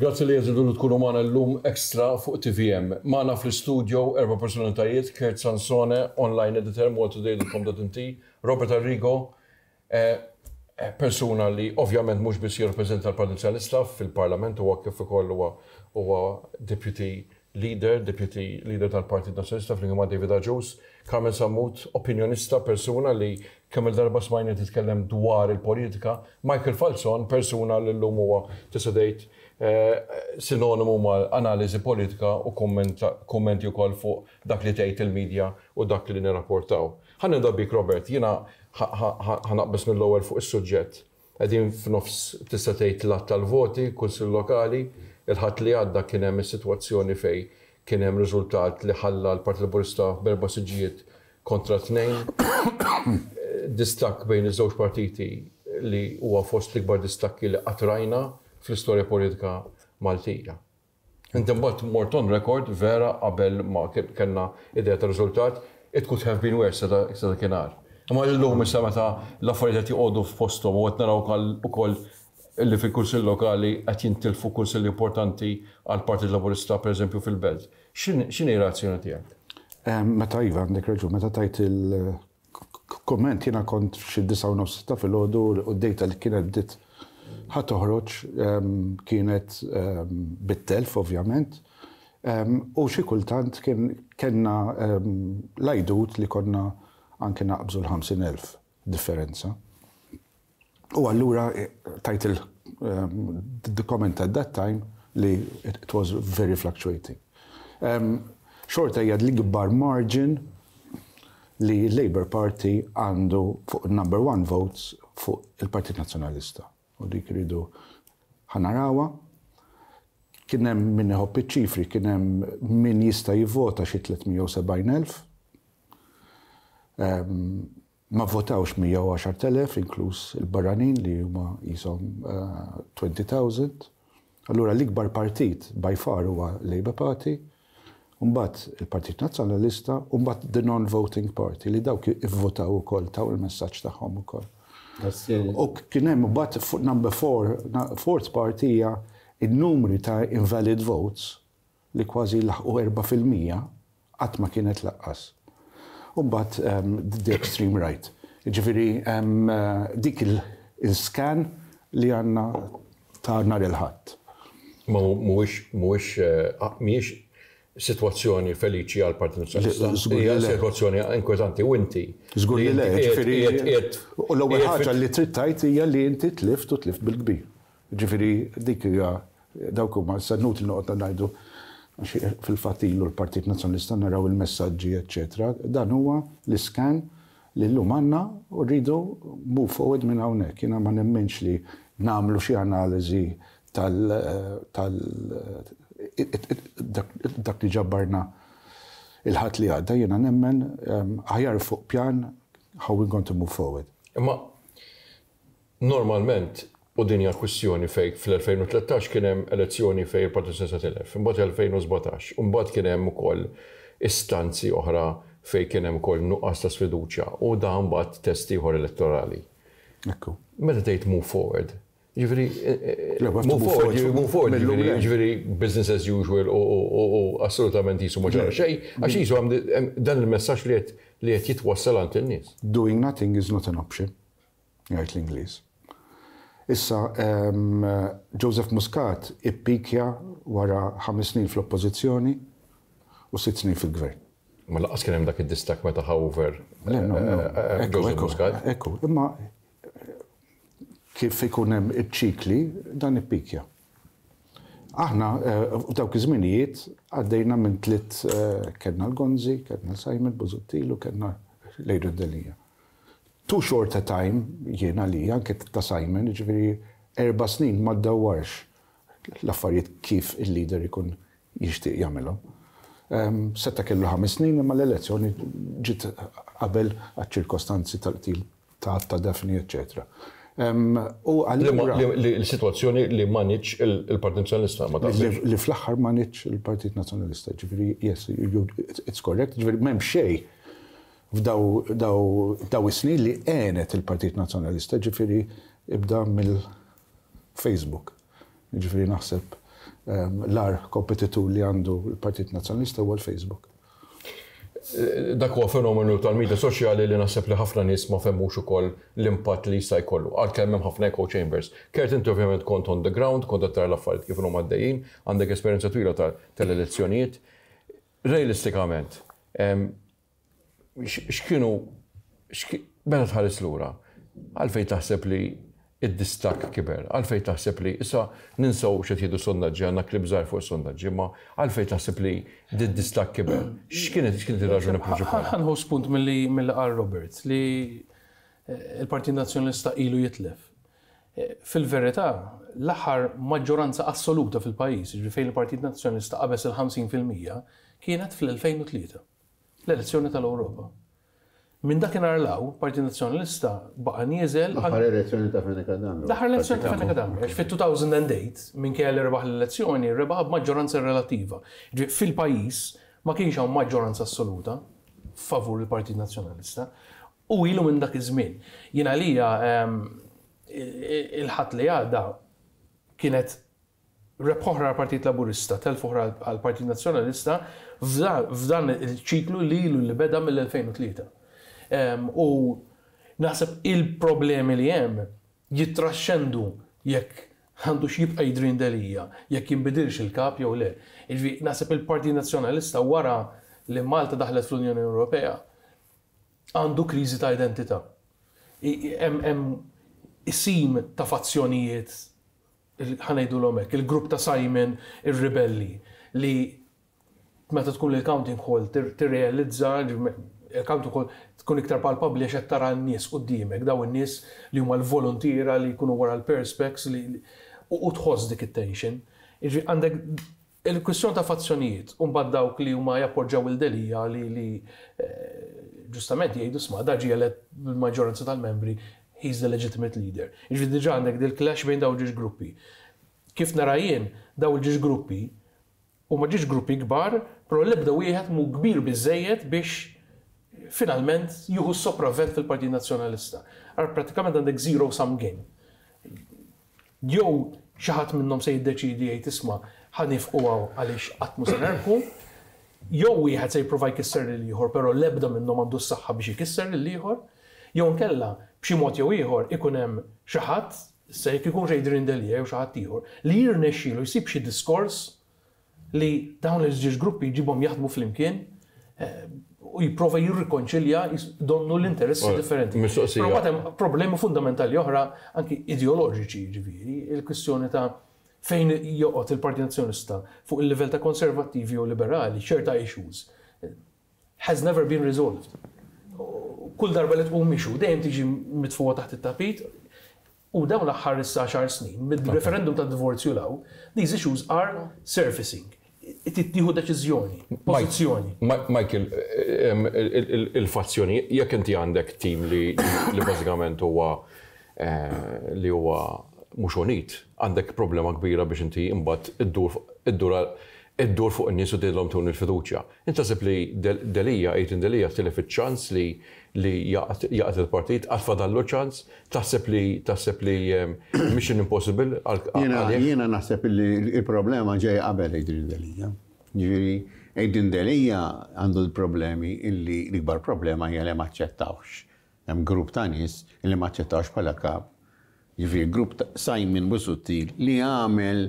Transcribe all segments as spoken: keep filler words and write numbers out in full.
Grazzi li għażiltu li tkunu magħna llum extra fuq T V M. Magħna fl-studio erba' personalitajiet: Kurt Sansone, online editor, maltatoday dot com dot M T, Robert Arrigo, eh, eh, persuna li ovvjament mhux biss jirrappreżenta l-Partit Nazzjonalista fil-Parlament, huwa kif ukoll huwa huwa deputy leader, deputy leader tal-Partit Nazzjonalista flimkien ma' David Agius, Carmen Sammut, opinjonista, persuna li kemm il-darba smajna titkellem dwar il-politika, Michael Falzon, persuna li llum huwa, tista' tgħid, eh, sinonimu ma' analiżi politika u kommenti wkoll fuq dak li tgħid il-medja u dak li nirrapportaw. Ħa nibda bik, Robert, jiena ħa naqbeż mill-ewwel fuq is-suġġett. Qegħdin f'nofs, tista' tgħid, l tal-voti, kunsill lokali, il-Ħadd li għadda kien hemm is-sitwazzjoni fejn kien hemm riżultat li ħalla l-Partit Laburista b'erba' siġġijiet kontra tnejn. Distakk bejn iż-żewġ partiti li huwa fost l-ikbar distakki li qatt rajna fl-istorja politika Maltija. Inti mbagħad mort on record vera qabel ma kellna idea ta' riżultat, it could have been worse sa dakinhar. Imma llum issa, meta l-affarijiet qed joqogħdu f'posthom u qed naraw ukoll li fil-kunsill lokali qed jintilfu kunsill importanti għal Partit Laburista, pereżempju fil-Belt. X'inhi reazzjoni tiegħek? Meta iva, għandek raġun, meta tajt il-komment jiena kont xi disgħa u nofs ta' filgħodu u d-data li kienet bdiet ħa toħroġ kienet bit-telf, ovvjament. U xi kultant kien kellna l-għajdut li konna anke naqbżu l-ħamsin elf differenza. U allura tajt il the comment at that time li it was very fluctuating. Xorta hija l-ikbar margin li l-Labour Party għandu fuq number one votes fuq il-Partit Nazzjonalista. U dik ridu ħa narawha. Kien hemm min iħobb iċ-ċifri, kien hemm min jista' jivvota xi tliet mija u sebgħin elf. Ma votawx mija u għaxart elef, inkluż il-barranin li huma jisom elfejn. Allura l-ikbar partit by far huwa Labour Party, mbagħad il-Partit Nazzjonalista, u mbagħad the non-voting party li dawk ivvotaw ukoll, taw il-messaġġ tagħhom ukoll. U kien hemm mbagħad fuq number four, fourth party hija il-numri ta' invalid votes li kważi laħqu erbgħa fil-mija, qatt ma kienet lanqas. U mbagħad um, the extreme right. Ġifieri um, dik il-scan li għandna ta' nhar il-Ħadd. Ma mhuwiex mhuwiex eh, mhijiex sitwazzjoni feliċi għal Partit Nazzjonalista. Hija sitwazzjoni inkwetanti u inti. Żgur li le, ġifieri. U l-ewwel ħaġa li trid tgħid hija li inti tlift u tlift bil-kbir. Ġifieri dik hija, dawk huma sa nut li noqgħod ngħidu, fil-fatt ilu l-Partit Nazzjonalista naraw il-messaġġi, eċċetera. Dan huwa l-iskan li llum għandna u rridu move forward minn hawnhekk. Jiena ma nemminx li nagħmlu xi analiżi tal dak li ġabbarna il-Ħadd li għadda, jiena nemmen aħjar fuq pjan how we going to move forward. Imma normalment, u din hija kwistjoni fejn fl-elfejn u tlettax kien hemm elezzjoni fejn il-Partit Nazzjonalista tilef, imbagħad elfejn u sbatax, u mbagħad kien hemm ukoll istanzi oħra fejn kien hemm ukoll nuqqas ta' sfiduċja u dan mbagħad test ieħor elettorali. Ekku. Meta tgħid move forward, ġifieri, move forward, move forward, ġifieri business as usual u assolutament qisu ma ġara xejn, għax qisu dan il-messaġġ li li qed jitwassal għand in-nies. Doing nothing is not an option, jgħid l-Ingliż. Issa, um, Joseph Muscat ippikja wara ħames snin fl-oppożizzjoni u sitt snin fil-gvern. Ma lanqas kien hemm dak id-distakk meta ħa over Le, no, no. Eh, Ekku, Joseph ekku, Muscat. Ekku, imma kif ikun hemm iċ-ċikli, dan ippikja. Aħna eh, f'dawk iż-żminijiet għaddejna minn tliet, eh, kellna l-Gonzi, kellna Simon Busuttil u kellna l-Adrian Delia. Too short a time jiena li anke ta' Simon, ġifieri erba' snin ma ddawwarx l-affarijiet kif il-leader ikun jixtieq jagħmelhom. Um, seta' kellu ħames snin, imma l-elezzjoni ġiet qabel għaċ-ċirkostanzi tal-qtil ta' ta' Daphne, eccetera. Um, u Li ma- allura li- li l-sitwazzjoni li manage il-Partit Nazzjonalista ma li, taqbilx. li fl-aħħar manage il-Partit Nazzjonalista, ġifieri, yes, you, it's correct, ġifieri m'hemm xejn f'daw daw, daw is-snin li għenet il-Partit Nazzjonalista, ġifieri ibda mill-Facebook. Ġifieri naħseb L-agħar kompetitur li għandu l-Partit Nazzjonalista huwa l-Facebook. Dak huwa fenomenu tal-media soċjali li naħseb li ħafna nies ma fehmux ukoll l-impatt li jista' jkollu. Għalkemm hemm ħafna echo chambers. Kurt, inti ovvjament kont on the ground, kont qed tara l-affarijiet kif huma għaddejjin, għandek esperjenza twila tal-elezzjonijiet. Realistikament, x'kienu meta tħares lura, għalfejn taħseb li id-distakk kiber? Għalfejn taħseb li, issa ninsaw x'qed jgħidu sondaġġi, għandna klib żgħar fuq sondaġġi, ma għalfejn taħseb li d-distakk kiber? X'kienet x'kienet ir-raġuni prinċipali? Ħa nieħu spunt milli milli qal Robert li eh, il-Partit Nazzjonalista ilu jitlef. Eh, fil-verità, l-aħħar maġġoranza assoluta fil-pajjiż, ġifieri fejn il-Partit Nazzjonalista qabeż il-ħamsin fil-mija, kienet fl-elfejn u tlieta, l-elezzjoni tal-Ewropa. Minn dakinhar 'l hawn, Partit Nazzjonalista baqa' nieżel. L-aħħar elezzjoni ta' Fenech Adami. L-aħħar elezzjoni ta' Fenech Adami. Għax fit-elfejn u tmienja, minkejja li rebaħ l-elezzjoni, rebaħ b'maġġoranza relattiva. Fil-pajjiż ma kienx hawn maġġoranza assoluta favur il-Partit Nazzjonalista. U ilu minn dak iż-żmien. Jien għalija ehm, il-Ħadd li għadda kienet rebħa oħra għal-Partit Laburista, telf oħra għal-Partit Nazzjonalista f'dan il-ċiklu li ilu li beda mill-elfejn u tlieta. U naħseb il-problemi li hemm jittraxxendu jekk għandu x'jibqa' Adrian Delia, jekk jinbidilx il-kap jew le. Naħseb il-Partit Nazzjonalista, wara li Malta daħlet fl-Unjoni Ewropea, għandu kriżi ta' identità. Hemm isim ta' fazzjonijiet, ħa ngħidu hekk, il-grupp ta' Simon, ir-ribelli, li meta tkun il-counting hall tirrealizza, il-counting hall tkun iktar palpabli għax tara n-nies quddiemek, daw in-nies li huma l-volontiera li jkunu wara l-perspex li u tħoss dik it-tension. Għandek il-kwistjoni ta' fazzjonijiet, u mbagħad dawk li huma jappoġġaw lil Delia li li eh, ġustament jgħidu, "Isma', da ġie elett bil-maġġoranza tal-membri, he's the legitimate leader." Jiġifieri diġà għandek dil-clash bejn daw ġiex gruppi. Kif nara jien, daw il-ġiex gruppi huma ġiex gruppi kbar, però l-ebda wieħed mhu kbir biżejjed biex finalment jieħu sopravvent fil-Partit Nazzjonalista. Għar pratikament għandek zero sum game. Jew xi ħadd minnhom se jiddeċidi jgħid, "Isma', ħa nieqfu għaliex qatt mhu se nerbħu," jew wieħed se jipprova jkisser lil ieħor, però l-ebda minnhom għandu s-saħħa biex jkisser lil ieħor, jew nkella b'xi mod jew ieħor ikun hemm xi ħadd, se jekk ikun Adrian Delia jew xi ħadd ieħor, li jirnexxielu jsib xi diskors li dawn iż-żewġ gruppi jġibhom jaħdmu flimkien eh, u jipprova jirrikonċilja donnu l-interessi differenti. Mistoqsija. Però hemm problemi fundamentali oħra, anki ideoloġiċi, ġifieri, il-kwistjoni ta' fejn joqgħod il-Partit Nazzjonalista fuq il-livell ta' konservattivi u liberali, ċerta issues, has never been resolved. Kull darba li tqum issue, dejjem tiġi mitfuqa taħt it-tapit, u dawn l-aħħar issa għaxar snin, mid-referendum ta' divorzju 'l hawn, these issues are surfacing. Tieħu deċiżjoni, pożizzjoni. Michael, il-fazzjoni, jekk inti għandek tim li li bażikament huwa eh, li huwa mhux unit, għandek problema kbira biex inti imbagħad iddur iddur iddur fuq in-nies u tgħidilhom tuni l-fiduċja. Inti taħseb li Delia, Adrian Delia tilef iċ-ċans li li jgħaqqad il-partit, għad fadallu ċans, taħseb li taħseb li mission impossible għal? Jiena naħseb li il-problema ġej qabel Adrian Delia. Ġifieri, Adrian Delia għandu l-problemi illi l-ikbar problema hija li ma aċċettawx. Hemm grupp ta' nies illi ma aċċettawx bħala kap. Ġifieri, grupp ta' Simon Busuttil li għamel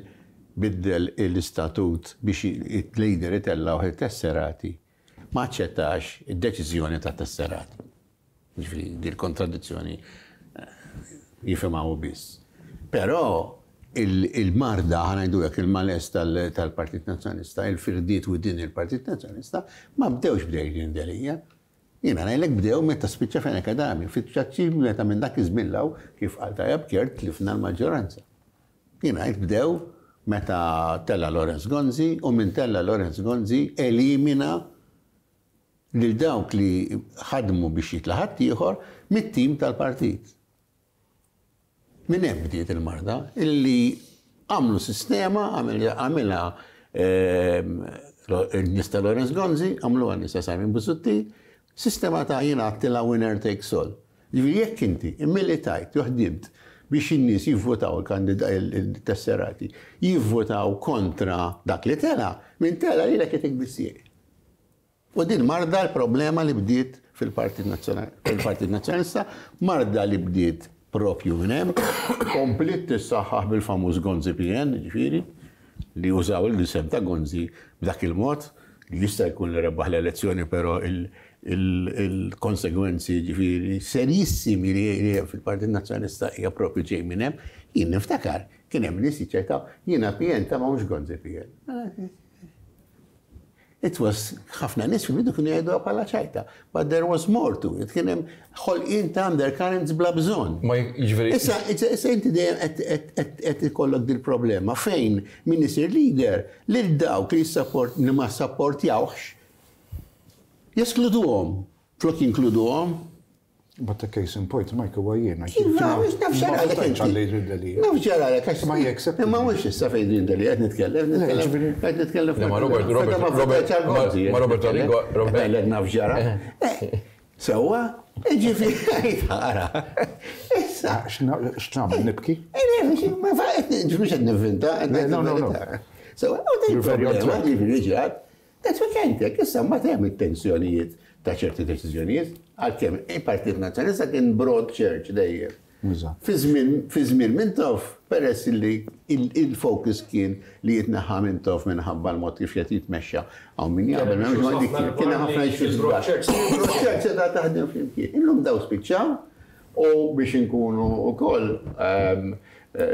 biddel l-istatut biex il-leader itellaw il-tesserati, ma aċċettax id-deċiżjoni ta' tesserati. Ġifieri, di l-kontradizzjoni eh, jifhimha hu biss. Però il-marda, ħa ngħidu hekk, il-malaise tal-Partit Nazzjonalista, il-firdiet within il-Partit Nazzjonalista, ma bdewx b'Adrian Delia. Jiena ngħidlek bdew meta spiċċa Fenech Adami, fiċċaċċi meta minn dak iż-żmien, kif qal tajjeb Kurt, tlifna l-maġġoranza. Jiena ngħid bdew meta tella Lawrence Gonzi, u minn tella Lawrence Gonzi elimina lil dawk li ħadmu biex jitla' ħaddieħor mit-tim tal-partit. Minn hemm bdiet il-marda illi għamlu sistema, għamilha ehm, il-nies ta' Lawrence Gonzi, għamlu għan-nies ta' Simon Busuttil, sistema ta' jiena għedtilha winner takes all. Ġifieri jekk inti immilitajt, jew ħdimt Biex in-nies jivvotaw il-tesserati, jivvotaw kontra dak li tela, minn tela li l-ek bissieq. U din marda l-problema li bdiet fil-Partit Nazzjonalista, marda li bdiet propju minn hemm, komplet tissaħħaħ bil-famuż Gonzi P N, ġifieri, li użaw il-isem ta' Gonzi b'dak il-mod, li jista' jkun li rebaħ l-elezzjoni, però il-konsegwenzi ġifieri serissimi li hemm fil-Partit Nazzjonalista hija propju ġej minn hemm. Jien niftakar, kien hemm nies jiċċertaw, jiena P N ta' ma mhux Gonzi P N. It was ħafna nies fil-bidu kienu jgħidu bħala ċajta, but there was more to it. Kien hemm ħolqien ta' undercurrents bla bżonn. Ma jiġifieri. Issa, issa inti dejjem qed ikollok dil problema fejn min isir leader lil dawk li support li ma sapportjawx jeskluduhom, flok jinkluduhom. But the case in point, Mike, huwa jiena. Naf ġaralek inti. Naf ġaralek, għax Ma jeksept. Imma mhux issa fejn din Delia qed nitkellem, qed nitkellem. Ma Robert, Robert, Robert, ma Robert Arrigo, Robert. Naf ġara. Sewwa, ġifieri tara. Issa. X'nagħmel nibki? Ma mhux qed nivvinta, No, no, no. Sewwa, u din problema ġifieri ġrat. That's what kien issa ma hemm it-tensjonijiet ta' ċerti deċiżjonijiet, għalkemm il-Partit Nazzjonalista kien broad church dejjem. Fi żmien Mintoff, peress li il-focus kien li jitneħħa Mintoff minħabba l-mod kif qed jitmexxa hawn min jaqbel m'hemmx ma dik kien ħafna issues kbar. Broad church qed taħdem flimkien. Illum daw spiċċaw u biex inkunu wkoll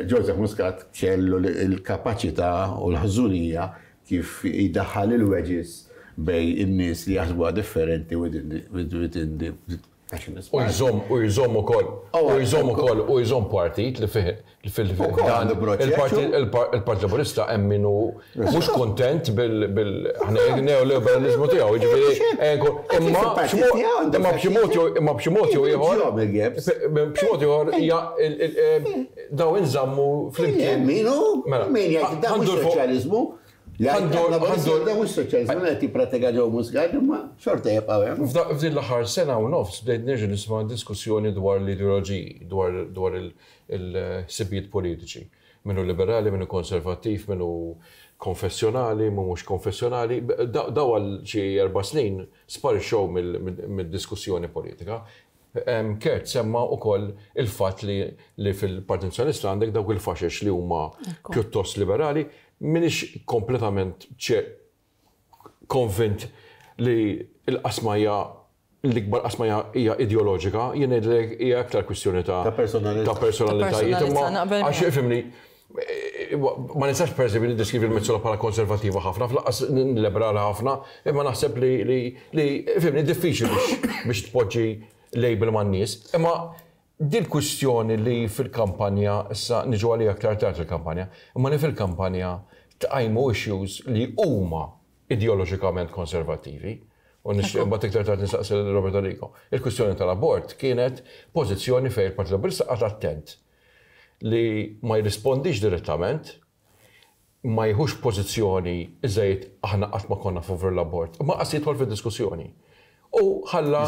Joseph Muscat kellu l-kapaċità u l-ħżunija kif jdaħħal il-wedges bej in-nies li jaħsbuha differenti within the nationalist U jżomm, u jżomm ukoll, u jżomm ukoll, u jżomm partit li fih il-Partit Laburista hemm min hu mhux kuntent bil neoliberalizmu tiegħu, jiġifieri imma imma b'xi mod imma b'xi mod jew ieħor b'xi mod ieħor daw inżammu flimkien. Min hu? Min jgħid dan mhux soċjaliżmu? Għandu, għandu, mhux soċjaliżmu li qed jippratika ġew Muscat, imma xorta jibqgħu hemm. F'din l-aħħar sena u nofs bdejt nerġa' nisma' diskussjoni dwar l-ideoloġiji, dwar il-ħsibijiet politiċi. Minnu liberali, minnu konservattiv, minnu konfessjonali, minnu mhux konfessjonali. Daw għal xi erba' snin sparixxew mid-diskussjoni politika. Kurt semma wkoll il-fatt li fil-Partit Nazzjonalista għandek dawk il-faxex li huma pjuttost liberali. Minix kompletament konvint li l-qasma hija l-ikbar qasma hija ideoloġika, jien ngħidlek hija aktar kwistjoni ta' personalitajiet. Imma għax ifhimni, ma nistax pereżempju niddeskrivi l-Metsola bħala konservattiva ħafna, fl-qas liberali ħafna, imma naħseb li li ifhimni diffiċli biex tpoġġi label man-nies. Imma din kwistjoni li fil-kampanja, issa niġu għalija aktar tard il-kampanja, imma li fil-kampanja tqajmu issues li huma ideoloġikament konservattivi, u nixtieq mbagħad iktar tard nistaqsi lil Robert Arrigo. Il-kwistjoni tal-abort kienet pożizzjoni fejn il-Partit Laburista qagħad attent li ma jirrispondix direttament, ma jieħux pożizzjoni iżejjed aħna qatt ma konna favur l-abort, ma qas jidħol fid-diskussjoni. U ħalla.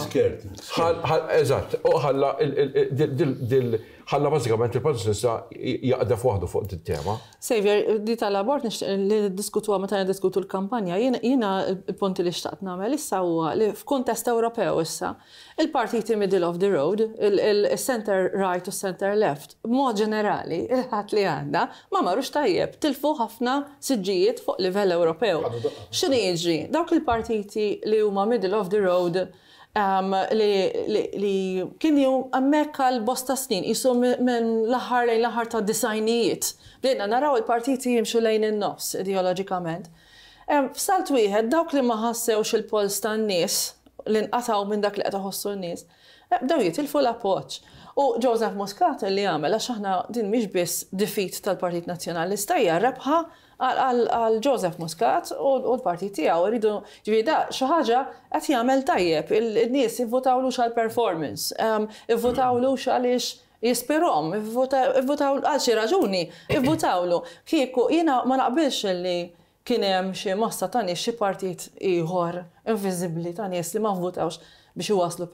Eżatt, u ħalla ħalla bażikament il-Partit Nazzjonalista jaqdef waħdu fuq dit tema. Xavier, di tal-abort li niddiskutuha meta niddiskutu l-kampanja, jiena il-punti li xtaqt nagħmel issa huwa li f'kuntest Ewropew issa, il-partiti middle of the road, il-center right u center left, b'mod ġenerali, il-ħadd li għandna, ma marrux tajjeb, tilfu ħafna siġġijiet fuq livell Ewropew. X'inhi jiġri? Dawk il-partiti li huma middle of the road li kienu hemmhekk għal bosta snin, qisu minn l-aħħar lejn l-aħħar ta' disajnijiet. Bdejna naraw il-partiti jimxu lejn in-nofs ideoloġikament. F'salt wieħed dawk li ma ħassewx il-pols tan-nies, li nqatgħu minn dak li qed iħossu n-nies, bdew jitilfu l-appoġġ. U Joseph Muscat li għamel, għax aħna din mhix biss defeat tal-Partit Nazzjonalista, hija rebħa għal Joseph Muscat u l-partit tiegħu. Iridu ġifieri da xi ħaġa qed jagħmel tajjeb, in-nies ivvutawlux għal performance, ivvutawlux għaliex jispirhom, ivvutaw għal xi raġuni, ivvutawlu. Kieku jiena ma naqbilx li kien hemm xi massa ta' nies xi partit ieħor inviżibbli ta' nies li ma vvutawx. biex iwasslu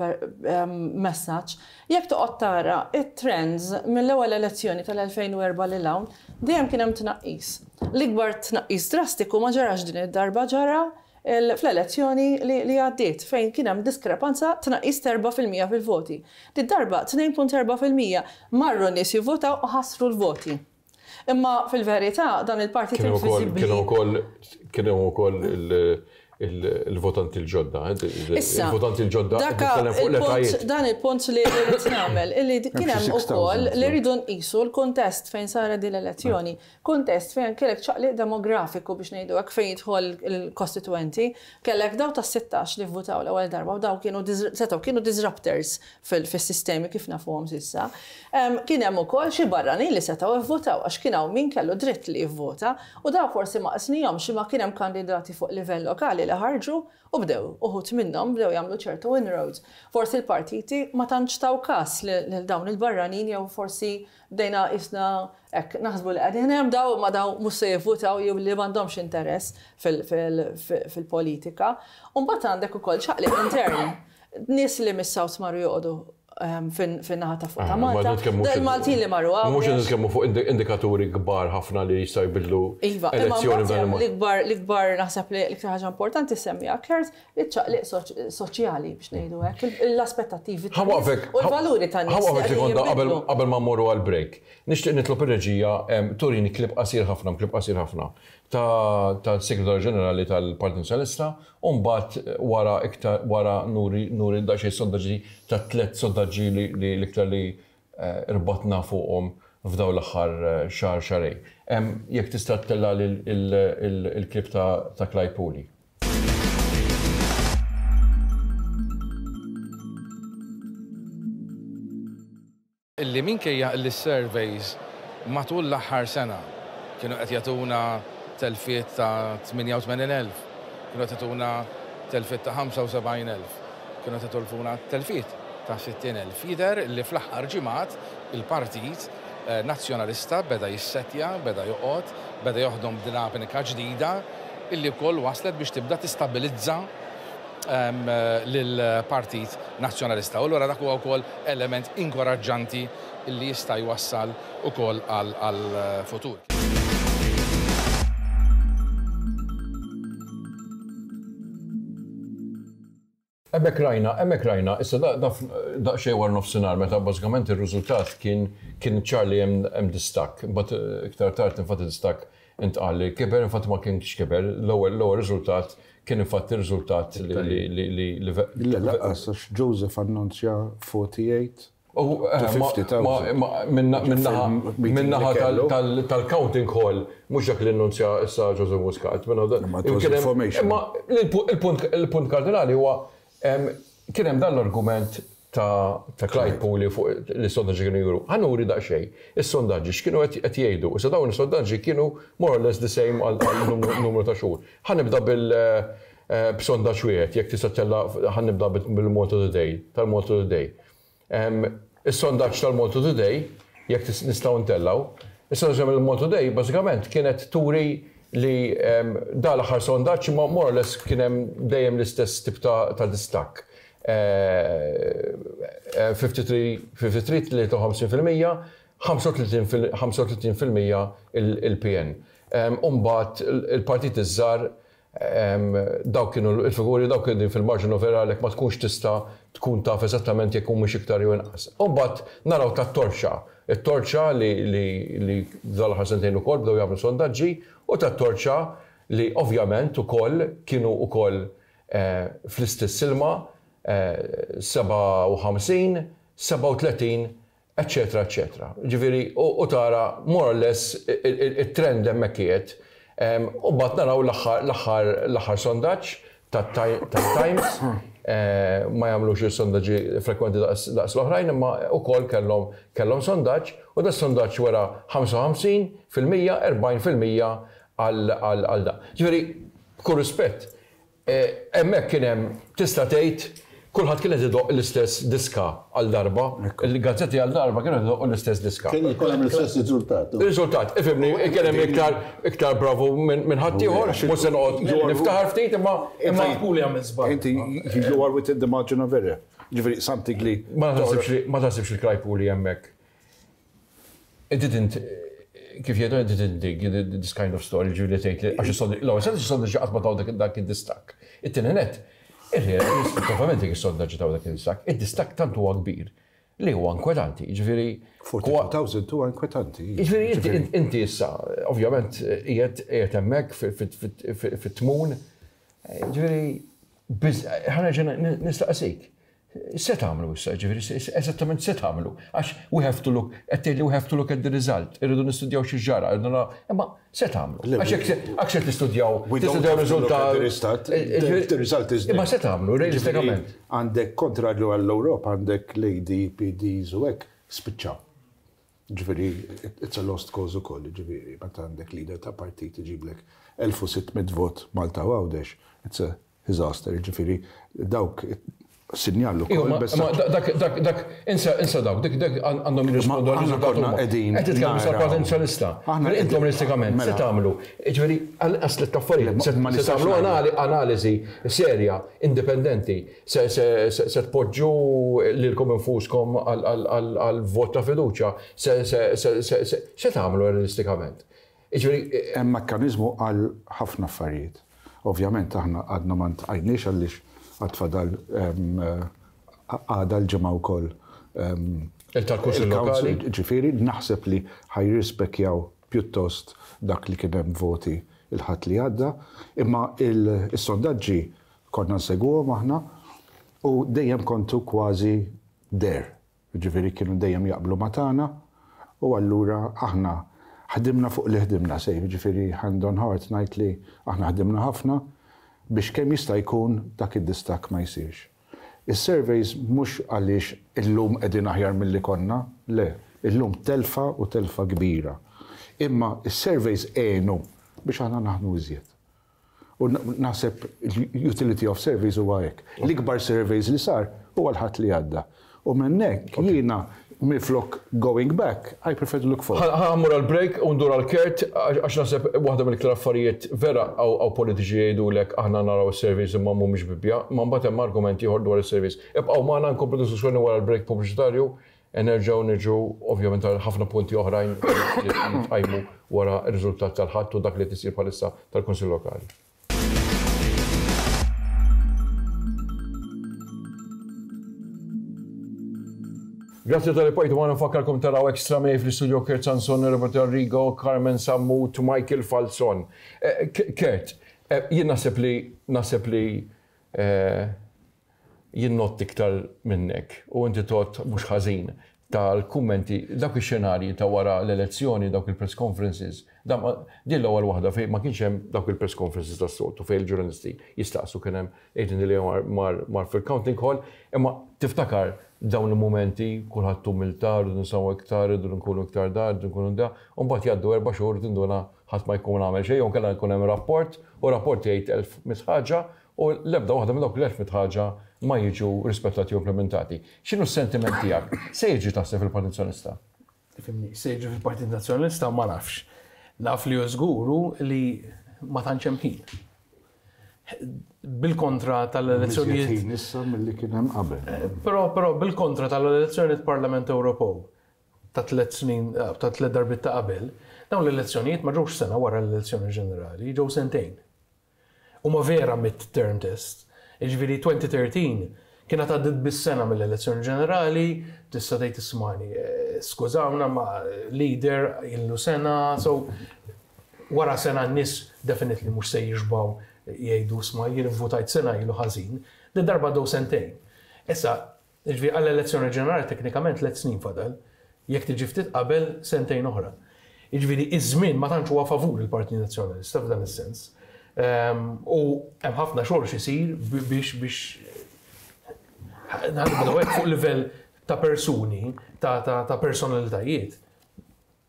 messaġġ. Jekk toqgħod tara it-trends mill-ewwel elezzjoni tal-elfejn u erbgħa lil hawn, dejjem kien hemm tnaqqis. L-ikbar tnaqqis drastiku ma ġarax din id-darba, ġara fl-elezzjoni li għaddiet fejn kien hemm diskrepanza tnaqqis erba' fil-mija fil-voti. Din darba tnejn punt erba' fil-mija marru nies jivvotaw u ħassru l-voti. Imma fil-verità dan il-partit inviżibbli. Kienu wkoll kienu wkoll il-votanti l-ġodda, il-votanti l-ġodda fuq l-etajiet. Dan il-punt li rrid nagħmel, illi kien hemm ukoll li rridu nqisu l-kuntest fejn saret din l-elezzjoni, kuntest fejn kellek ċaqliq demografiku biex ngħidu hekk fejn jidħol il-kostituenti, kellek daw ta' sittax li vvutaw l-ewwel darba u daw kienu setgħu kienu disruptors fis-sistemi kif nafuhom s'issa. Kien hemm ukoll xi barranin li setgħu vvutaw għax kien hawn min kellu dritt li jivvota u daw forsi ma qisnihomx imma kien hemm kandidati fuq livell lokali li ħarġu u bdew, uħut minnhom bdew jagħmlu ċertu inroads. Forsi l-partiti ma tantx taw każ lil dawn il-barranin jew forsi bdejna isna hekk naħsbu li qegħdin hemm daw ma daw mhux se jivvutaw jew li m'għandhomx interess fil-politika. U mbagħad għandek ukoll ċaqliq intern. Nies li mis-South marru joqogħdu fin-naħa ta' fuq ta' Malta. Il-Maltin li marru hawn. Mhux nitkellmu fuq indikaturi kbar ħafna li jistgħu jbidlu elezzjoni b'dan il-mod. L-ikbar l-ikbar naħseb li l-iktar ħaġa importanti semmija Kurt iċ-ċaqliq soċjali biex ngħidu hekk, l-aspettattivi u l-valuri tan-nies. Ħawaqfek sekonda qabel ma mmorru għall-break. Nixtieq nitlob ir-reġija turini klib qasir ħafna, klib qasir ħafna tal-Segretarju Ġenerali tal-Partit Nazzjonalista u mbagħad wara iktar wara nuri nuri daqsxejn sondaġġi ta' tliet sondaġġi li l-iktar li irbatna fuqhom f'daw l-aħħar xahar xahrejn. Jekk tista' ttella' il-klib ta' Clyde Puli. Illi minkejja li s-surveys matul l-aħħar sena kienu qed jagħtuna telfiet ta' tmienja u tmenin elf, kienu qed jagħtuna telfiet ta' ħamsa u sebgħin elf, kienu qed jagħtuna telfiet ta' sittin elf. Jidher li fl-aħħar ġimgħat il-Partit Nazzjonalista beda jissetja, beda joqgħod, beda joħdom dinamika ġdida illi wkoll waslet biex tibda tistabilizza lill-Partit Nazzjonalista. U allura dak huwa wkoll element inkoraġġanti illi jista' jwassal ukoll għall-futur. Hemmhekk rajna, hemmhekk rajna, issa daqsxejn wara nofsinhar meta bażikament ir-riżultat kien kien ċar li hemm distakk, imbagħad iktar tard infatti distakk intqal li kiber, infatti ma kienx kiber, l-ewwel l-ewwel riżultat kien infatti riżultat li li li li laqqas għax Joseph annunzja forty-eight Minnaħa tal-counting hall, mhux dak li annunzja issa Joseph Muscat. Imma il-punt kardinali huwa kien hemm dan l-argument ta' Clyde Puli fuq li sondaġġi kienu juru. Ħa nuri daqsxejn, is-sondaġġi x'kienu qed jgħidu. Issa dawn is-sondaġġi kienu more or less the same għal numru ta' xhur. Ħa nibda bil b'sondaġġ wieħed, jekk tista' tella ħa nibda bil-Malta Today, tal-Malta Today. Is-sondaġġ tal-Malta Today, jekk nistgħu ntellgħu, is-sondaġġ tal-Malta Today bażikament kienet turi li da l-aħħar sondaġġ ma more or less kien hemm dejjem l-istess tip ta' distakk. fifty-three, tlieta u ħamsin fil-mija, ħamsa u tletin fil-mija il-P N. Umbagħad il-partit iż-żgħar dawk kienu l-figuri, dawk kienu fil-margin of error għalhekk ma tkunx tista' tkun taf eżattament jekk humiex iktar jew inqas. Umbagħad naraw tat-torċa, it-torċa li dal-aħħar sentejn ukoll bdew jagħmlu sondaġġi u tat-torċa li ovvjament ukoll kienu ukoll fl-istess ilma sebgħa u ħamsin, sebgħa u tletin, eccetera, eccetera. Ġifieri, u tara more or less it-trend hemmhekk qiegħed. U mbagħad naraw l-aħħar sondaġġ tat-Times, ma jagħmlux il-sondaġġi frekwenti daqs l-oħrajn, imma wkoll kellhom sondaġġ, u da sondaġġ wara ħamsa u ħamsin fil-mija, erbgħin fil-mija għal da. Ġifieri, b'kull rispett, hemmhekk kien hemm tista' tgħid Kulħadd kien qed idoqq l-istess diska għal darba, il-gazzetti għal darba kienu qed idoqqu l-istess diska. Kien ikollhom l-istess riżultat. Riżultat, ifhimni, kien hemm iktar iktar bravu minn ħaddieħor, mhux se noqgħod niftaħar ftit imma imma Puli għamel żball. Inti you are within the margin of error. Ġifieri something li ma taħsibx ma taħsibx il-Clyde Puli hemmhekk. It didn't kif jgħidu it didn't dig this kind of story ġifieri tgħid li għax is-sondaġġ l-ewwel is-sondaġġ qatt ma taw dak id-distakk. It-tieni nett, ovvjament jekk is-sondaġġi taw dak id-distakk, id-distakk tant huwa kbir li huwa inkwetanti, jiġifieri forty-two thousand huwa inkwetanti. Jiġifieri inti issa, ovvjament qiegħed hemmhekk fit-tmun, jiġifieri ħa nerġa' nistaqsik. Se tagħmlu issa, ġifieri, eżattament se tagħmlu, għax we have to look, qed tgħidli we have to look at the result, irridu nistudjaw xi ġara, irridu imma se tagħmlu. Għax jekk se tistudjaw, tistudjaw riżultat. The result is. Imma se tagħmlu, realistikament. Għandek kontrarju għall-Ewropa, għandek l-A D, P Ds u hekk, spiċċaw. Ġifieri, it's a lost cause ukoll, ġifieri, meta għandek leader ta' partit iġiblek elf u sitt mitt vot Malta u Għawdex, it's a disaster, ġifieri, dawk sinjallu kol. Dak, dak, dak, insa, insa dawk, dak, dak għandhom jirrispondu għal riżultat huma. Qegħdin Qed titkellmu sal Partit Nazzjonalista. Intom realistikament, se tagħmlu. Ġifieri, għall-inqas tliet affarijiet. Se tagħmlu analiżi serja, indipendenti, se tpoġġu lilkom infuskom għal vot ta' fiduċja, se tagħmlu realistikament. Ġifieri, hemm mekkaniżmu għal ħafna affarijiet. Ovvjament aħna għadna ma ntqajniex għaliex għatfadal għada l-ġimgħa wkoll. Il-tal-Kunsill Lokali. Ġifieri, naħseb li ħajrispekjaw pjuttost dak li kien hemm voti il-ħadd li għadda, imma il-sondaġġi konna nsegwuhom aħna u dejjem kontu kważi der. Ġifieri kienu dejjem jaqblu ma' tagħna u allura aħna ħdimna fuq li ħdimna sejf, ġifieri hand on heart ngħid li aħna ħdimna ħafna biex kemm jista' jkun dak id-distakk ma jsirx. Is-surveys mhux għaliex illum qegħdin aħjar milli konna, le, illum telfa u telfa kbira. Imma is-surveys għenu biex aħna naħdmu iżjed. U naħseb utility of surveys huwa hekk. L-ikbar surveys li sar huwa l-ħadd li għadda. U minn hekk jiena minflok going back, I prefer to look forward. Ħa mmur għal-break u ndur għal-Kurt, għax naħseb waħda mill-iktar affarijiet vera għaw politiċi jgħidulek aħna naraw is-surveys imma mhumiex bibbja, ma mbagħad hemm argument ieħor dwar is-surveys. Ibqgħu magħna nkomplu diskussjoni wara l-break pubbliċitarju, nerġgħu niġu ovvjament għal ħafna punti oħrajn li tqajmu wara r-riżultat tal-ħadd u dak li tisir bħalissa tal-Kunsill Lokali. Grazie tal-li pajtu għana nfakkarkom taraw Extra May fl-istudio Kurt Sansone, Robert Arrigo, Carmen Sammut, Michael Falzon. Kurt, jien naħseb li naħseb li jien nott iktar minnek u inti tot mhux ħażin tal-kummenti dawk ix-xenarji ta' wara l-elezzjoni, dawk il-press conferences. Din l-ewwel waħda fejn ma kienx hemm dawk il-press conferences tas-soltu fejn il-ġurnalisti jistaqsu kien hemm Adrian Delia mar fil-counting hall, imma tiftakar dawn il-momenti kulħadd umiltà, rridu nsawu iktar, rridu nkunu iktar dar, rridu nkunu da, u mbagħad jgħaddu erba' xhur tinduna ħadd ma jkun għamel xejn, jew kellha jkun hemm rapport, u rapport jgħid elf mitt ħaġa, u l-ebda waħda minn dawk l-elf mitt ħaġa ma jiġu rispettati u implementati. X'inhu s-sentiment tiegħek? Se jiġi taħseb fil-Partit Nazzjonalista? Fimni, se jiġi fil-Partit Nazzjonalista ma nafx. Naf li żguru li ma tantx hemm ħin. Bil-kontra tal-elezzjonijiet. Ħin issa milli kien hemm qabel. Però però bil-kontra tal-elezzjonijiet Parlament Ewropew ta' tliet snin, ta' tliet darbiet ta' qabel, dawn l-elezzjonijiet ma ġewx sena wara l-elezzjoni ġenerali, ġew sentejn. Huma vera mid-term test. Jiġifieri twenty thirteen kienet għaddiet bis-sena mill-elezzjoni ġenerali, tista' tgħid ismani, skużawna ma' leader illu sena, so wara sena n-nies definitely mhux se jixbaw jgħidu sma jien votajt sena ilu ħażin, din darba għaddew sentejn. Issa, jiġifieri għall-elezzjoni ġenerali teknikament tliet snin fadal, jekk tiġi ftit qabel sentejn oħra. Jiġifieri iż-żmien ma tantx huwa favur il-Partit Nazzjonalista f'dan is-sens. U hemm ħafna xogħol x'isir biex biex nibdew hekk fuq livell ta' persuni, ta' personalitajiet.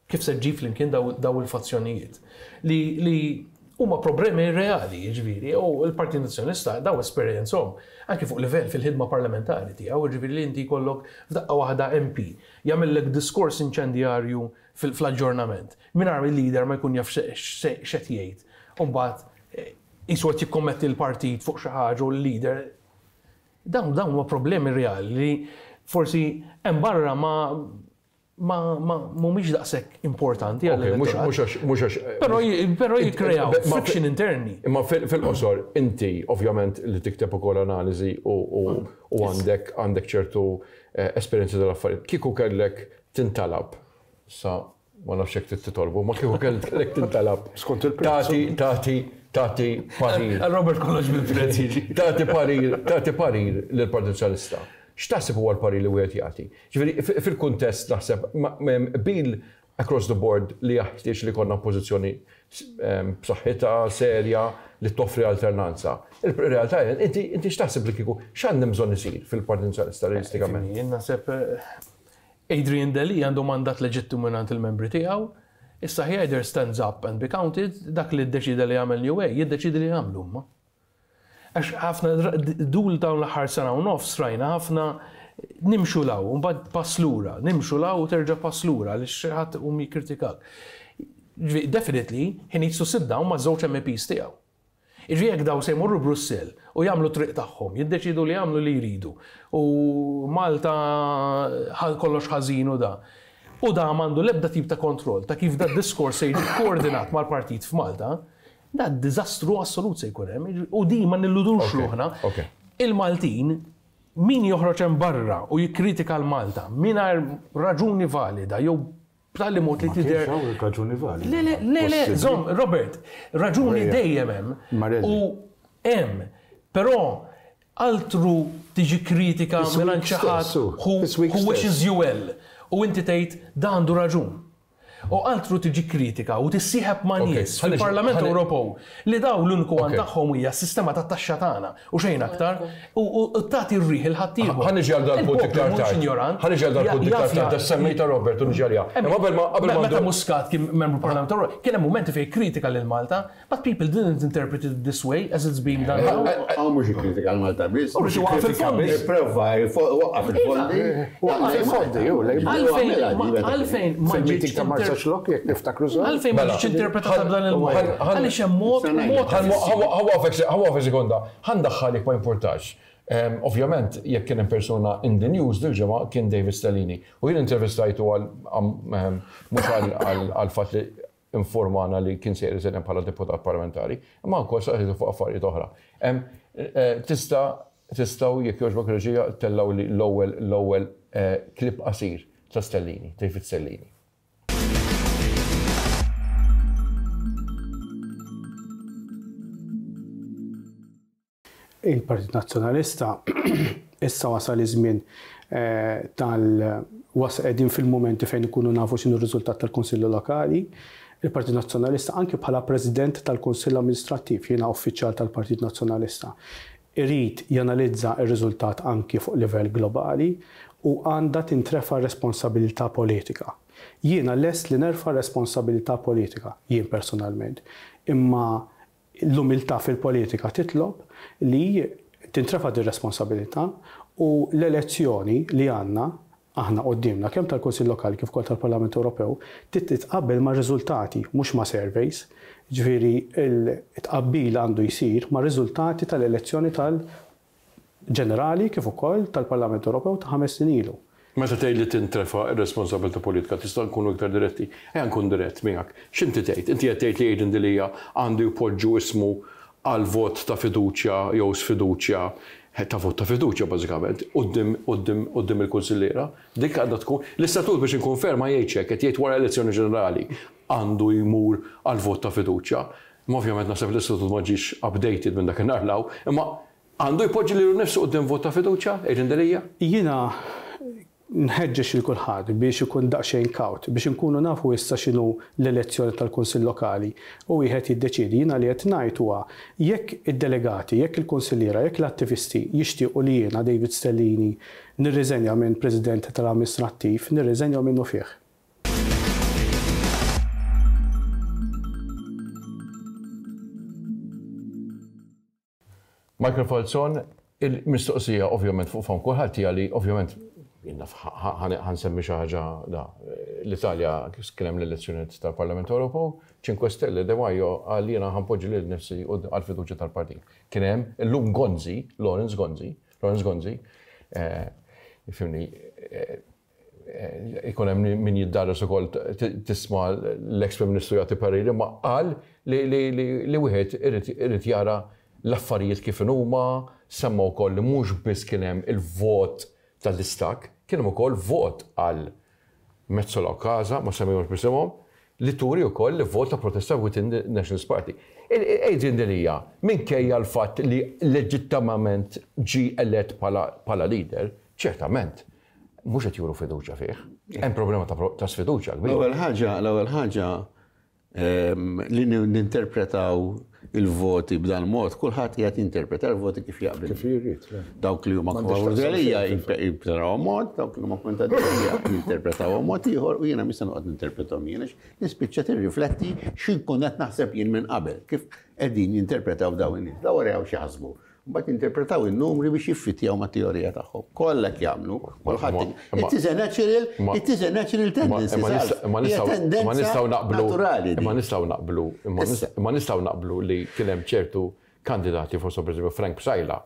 Kif se ġġib flimkien daw il-fazzjonijiet. Li Huma problemi reali, jiġifieri, u l-Partit Nazzjonalista daw esperjenzhom anke fuq livell fil-ħidma parlamentari tiegħu, jiġifieri li inti jkollok f'daqqa waħda M P jagħmellek diskors inċendjarju fl-aġġornament. Mingħajr il-leader ma jkun jaf x'qed jgħid. U mbagħad eh, qisu qed jikkommetti l-partit fuq xi ħaġa u l-leader. Dawn dawn huma problemi reali li forsi hemm barra ma ma ma mhumiex daqshekk importanti Ok, mhux mhux għax mhux għax Però però jikkreaw Ma- friction interni. Imma fil- fil-qosor, inti ovvjament li tikteb ukoll analiżi u u- u għandek għandek ċertu eh, esperjenzi tal-affarijiet. Kieku kellek tintalab, sa ma nafx jekk titolbu, ma kieku kellek tintalab. Skont il-prezz. Tati, tati, tati parir. Robert kollox bil-prezz jiġi. Tati parir, tati parir lill-Partit Soċjalista. X'taħseb huwa l-parir li wieħed jagħti? Ġifieri fi- fil-kuntest naħseb ma- m'hemm bil across the board li jaħtieġ li konna pożizzjoni ehm, b'saħħitha serja li toffri alternanza. Il-realtà hija, inti inti x'taħseb li kieku x'għandhem bżonn isir fil-Partit Soċjalista realistikament? Jien naħseb eh, Adrian Delia għandu mandat leġittimu mingħand il-membri tiegħu. Issa he either stands up and be counted, dak li ddeċida li jagħmel New Way, jiddeċidi li jagħmlu huma. Għax ħafna dul dawn l-aħħar sena u nofs rajna ħafna nimxu 'l hawn, mbagħad pass lura, nimxu 'l hawn u terġa' pass lura għaliex xi ħadd um jikkritikak. Ġifieri, definitely, he needs to sit down ma' żewġ M Ps tiegħu. Iġi jekk daw se jmorru Brussell u jagħmlu triq tagħhom, jiddeċidu li jagħmlu li jridu. U Malta ħal kollox ħażin u da. U da m'għandu l-ebda tip ta' kontroll ta' kif da diskors se jiġi koordinat mal-partit f'Malta, da diżastru assolut se jkun hemm. U di ma nilludux Ok, ruħna. ok. Il-Maltin, min joħroġ hemm barra u jikkritika l-Malta mingħajr raġuni valida jew b'tali mod li Ma tidher kienx hawn raġuni valida. Le, le, le, le, Possibbli. żomm, Robert, raġuni Ejja. dejjem hemm. Marelli. U hemm, però altru tiġi kritika This minn week xi ħadd stess, u. who This week who stess. wishes you well. U inti tgħid da għandu raġun. U altru tiġi kritika u tissieħeb ma' Ok, nies ħalli- fil-Parlament ħalli- Ewropew li daw l-uniku għan Ok. tagħhom hija s-sistema tat-taxxa tagħna u xejn aktar u u tagħti r-riħ il-ħaddieħor. Ħa niġi għal dal-punt iktar Il-poplu mhux tard. ignorant. Ħa niġi għal dal-punt Ja- iktar jaf tard. ja- Semmejta Robert u niġi għalija. Imma qabel ma qabel ma Meta ndur- Muscat kien membru Parlament Ewropew, kien hemm mumenti fejn kritika lil Malta, but people didn't interpret it this way as it's being done now. Għaw mux kritika l-Malta biss. U rrid iwaqqaf il-fondi. Prova, waqqaf il-fondi. Waqqaf il-fondi, ju, lejn- Għalfejn ma- għalfejn ma Fil-meeting ġietx ta' inter- Marsaxlokk, jekk niftakru sew. Għalfejn ma Mela. ġietx interpretata b'dan il-mod. Ħan- ħan- Għaliex hemm mod mod Ħa waqfek sekonda, ħa ndaħħalek ma importax. Em, Ovvjament, jekk kien hemm persuna in the news dil-ġimgħa kien David Stellini. U jien intervistajtu għal am- em, mhux għal- għal għal fatt li informana li kien se jirriżenja bħala deputat parlamentari, imma wkoll saqsitu fuq affarijiet oħra. Em, eh, Tista' tistgħu jekk jogħġbok reġija tellaw li l-ewwel l-ewwel eh, klip qasir ta' Stellini, David Stellini. Il-Partit Nazzjonalista issa wasal iż-żmien eh, tal was qegħdin fil-mumenti fejn ikunu nafu x'inhu r-riżultat tal-Kunsilli Lokali. Il-Partit Nazzjonalista anke bħala President tal-Kunsill Amministrattiv, jiena uffiċjal tal-Partit Nazzjonalista, irid janalizza r-riżultat anki fuq livell globali u għandha tintrefa responsabilità politika. Jiena lest li nerfa responsabilità politika, jien personalment, imma l-umiltà fil-politika titlob li tintrefa din responsabilità u l-elezzjoni li għandna aħna qoddimna kemm tal-Kunsill Lokali kif ukoll tal-Parlament Ewropew trid titqabbel ma' riżultati mhux ma' surveys. Ġifieri il-tqabbil għandu jsir ma' riżultati tal-elezzjoni tal-ġenerali kif ukoll tal-Parlament Ewropew ta' ħames snin ilu. Meta tgħid li tintrefa ir-responsabilità politika, tista' nkunu iktar diretti. Ejja nkun dirett miegħek. X'inti tgħid? Inti qed tgħid li Adrian Delia għandu jpoġġu ismu għal vot ta' fiduċja jew sfiduċja ta' vot ta' fiduċja bażikament quddiem quddiem quddiem il-kunsilliera. Dik għandha tkun l-istatut biex inkonferma jgħid hekk qed jgħid wara elezzjoni ġenerali għandu jmur għal vot ta' fiduċja. Ma ovvjament naħseb l-istatut ma ġiex updated minn dak in-nhar 'l hawn, imma għandu jpoġġi lilu nnifsu quddiem vot ta' fiduċja, Adrian Delia? Jiena nħeġġeġ il kulħadd biex ikun daqsxejn kawt, biex inkunu nafu issa x'inhu l-elezzjoni tal-Kunsill Lokali u wieħed jiddeċiedi. Jiena li qed ngħid huwa jekk id-delegati, jekk il-kunsilliera, jekk l-attivisti jixtiequ li jiena David Stellini nirriżenja minn President tal-Amministrattiv, nirriżenja minnu fih. Michael Falzon, il-mistoqsija ovvjament fuq fomm kulħadd hija li ovvjament jiena ħa nsemmi xi ħaġa da l-Italja kien hemm l-elezzjonijiet tal-Parlament Ewropew, Cinque Stelle Di Maio qal jiena ħa npoġġi lil nifsi għall-fiduċja tal-partit. Kien hemm illum Gonzi, Lawrence Gonzi, Lawrence Gonzi, ifhimni, ikun hemm min jiddarres ukoll tisma' l-ex Prim Ministru jagħti pariri, ma qal li wieħed irid jara l-affarijiet kif huma, semma wkoll li mhux biss kien hemm il-vot tal-distakk, kien hemm ukoll vot għal Metsola u Casa, ma semmihomx b'isimhom, li turi wkoll li vot ta' protesta within the Nationalist Party. Adrian Delia, minkejja l-fatt li leġittimament ġi elett bħala leader, ċertament, mhux qed juru fiduċja fih. Hemm problema ta' sfiduċja kbira. L-ewwel ħaġa, l-ewwel ħaġa li ninterpretaw il-voti b'dan mod, kulħadd qiegħed jinterpreta l-voti kif jaqbel. Kif jrid. Dawk li huma favur Delia jinterpretaw mod, dawk li huma kontra Delia jinterpretaw mod ieħor u jiena mhux se noqgħod ninterpretahom jien għax nispiċċa tirrifletti x'inkun qed naħseb jien minn qabel, kif qegħdin jinterpretaw dawn in-nies. Daw waraw xi ħasbu. Mbagħad jinterpretaw in-numri biex jiffitjaw mat-teorija tagħhom. Kollha jagħmlu, kulħadd. It is a natural, it is a natural tendency. Ma nistgħu naqblu. Ma nistgħu naqblu, ma nistgħu naqblu li kien hemm ċertu kandidati, forsi pereżempju Frank Psaila,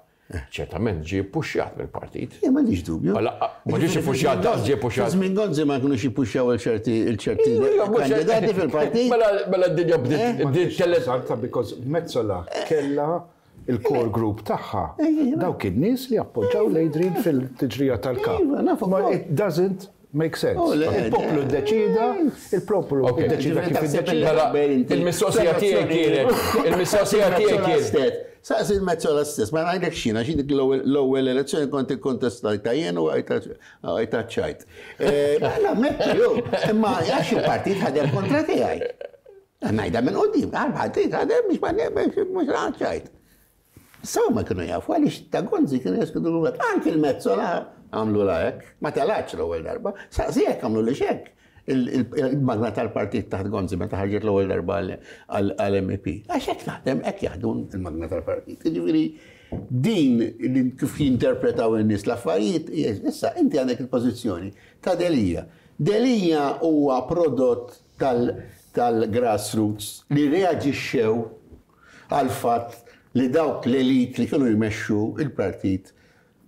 ċertament ġie puxjat mill-partit. Ja, m'għandix dubju. Ma ġiex puxjat, daqs ġie puxjat. Żmien Gonzi ma kinux jippuxjaw il-ċerti il-ċerti kandidati fil-partit. Mela d-dinja bdiet tellet. Because Metsola kella il-core group tagħha dawk in-nies li appoġġaw l-Adrian fil-tiġrija tal-kap. Ma it doesn't make sense. Il-poplu ddeċida, il-poplu ddeċida kif iddeċida. Il-mistoqsija tiegħi kienet, il-mistoqsija tiegħi kienet. Saqsi il-Metsola stess, ma ngħidlek xina, xi dik l-ewwel elezzjoni kont ikkontestajta jien u għajta ċajt. Mela mettu, imma għax il-partit ħadem kontra tiegħi. Ngħidha minn quddiem, għal-partit ħadem biex ma mhux ċajt. Saw ma kienu jafu għaliex ta' Gonzi kienu jaskudu l Anki il-Metsola għamlu la hekk, ma telax l-ewwel darba, saqsi hekk għamlu li xek. Il-magna tal-partit taħt Gonzi meta ħarġet l-ewwel darba għal-M E P. Għax hekk taħdem hekk jaħdmu il-magna tal-partit. Jiġifieri din li kif jinterpretaw in-nies l-affarijiet, issa inti għandek il-pożizzjoni ta' Delia. Delia huwa prodott tal-grassroots li reaġixxew għal fatt li dawk l-elit li kienu jmexxu il-partit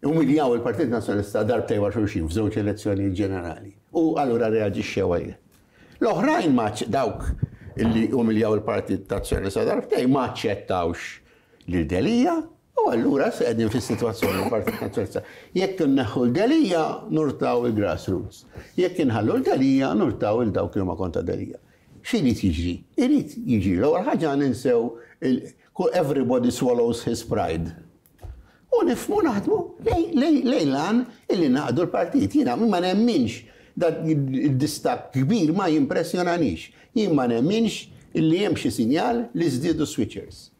umiljaw il-Partit Nazzjonalista darbtejn wara xulxin f'żewġ elezzjoni ġenerali. U allura reaġixxew għalih. L-oħrajn ma dawk li umiljaw il-Partit Nazzjonalista darbtejn ma aċċettawx lil Delia u allura se qegħdin fis-sitwazzjoni l-Partit Nazzjonalista. Jekk inneħħu l-Delia nurtaw il-grassroots. Jekk inħallu l-Delia nurtaw il dawk li huma kontra Delia. X'irid jiġri? Irid jiġri l-ewwel ħaġa ninsew everybody swallows his pride. U nifmu naħdmu lejlan illi naqdu l-partit. Jiena ma nemminx dak il-distakk kbir ma jimpressjonanix. Jien ma nemminx illi hemm xi sinjal li żdiedu switchers.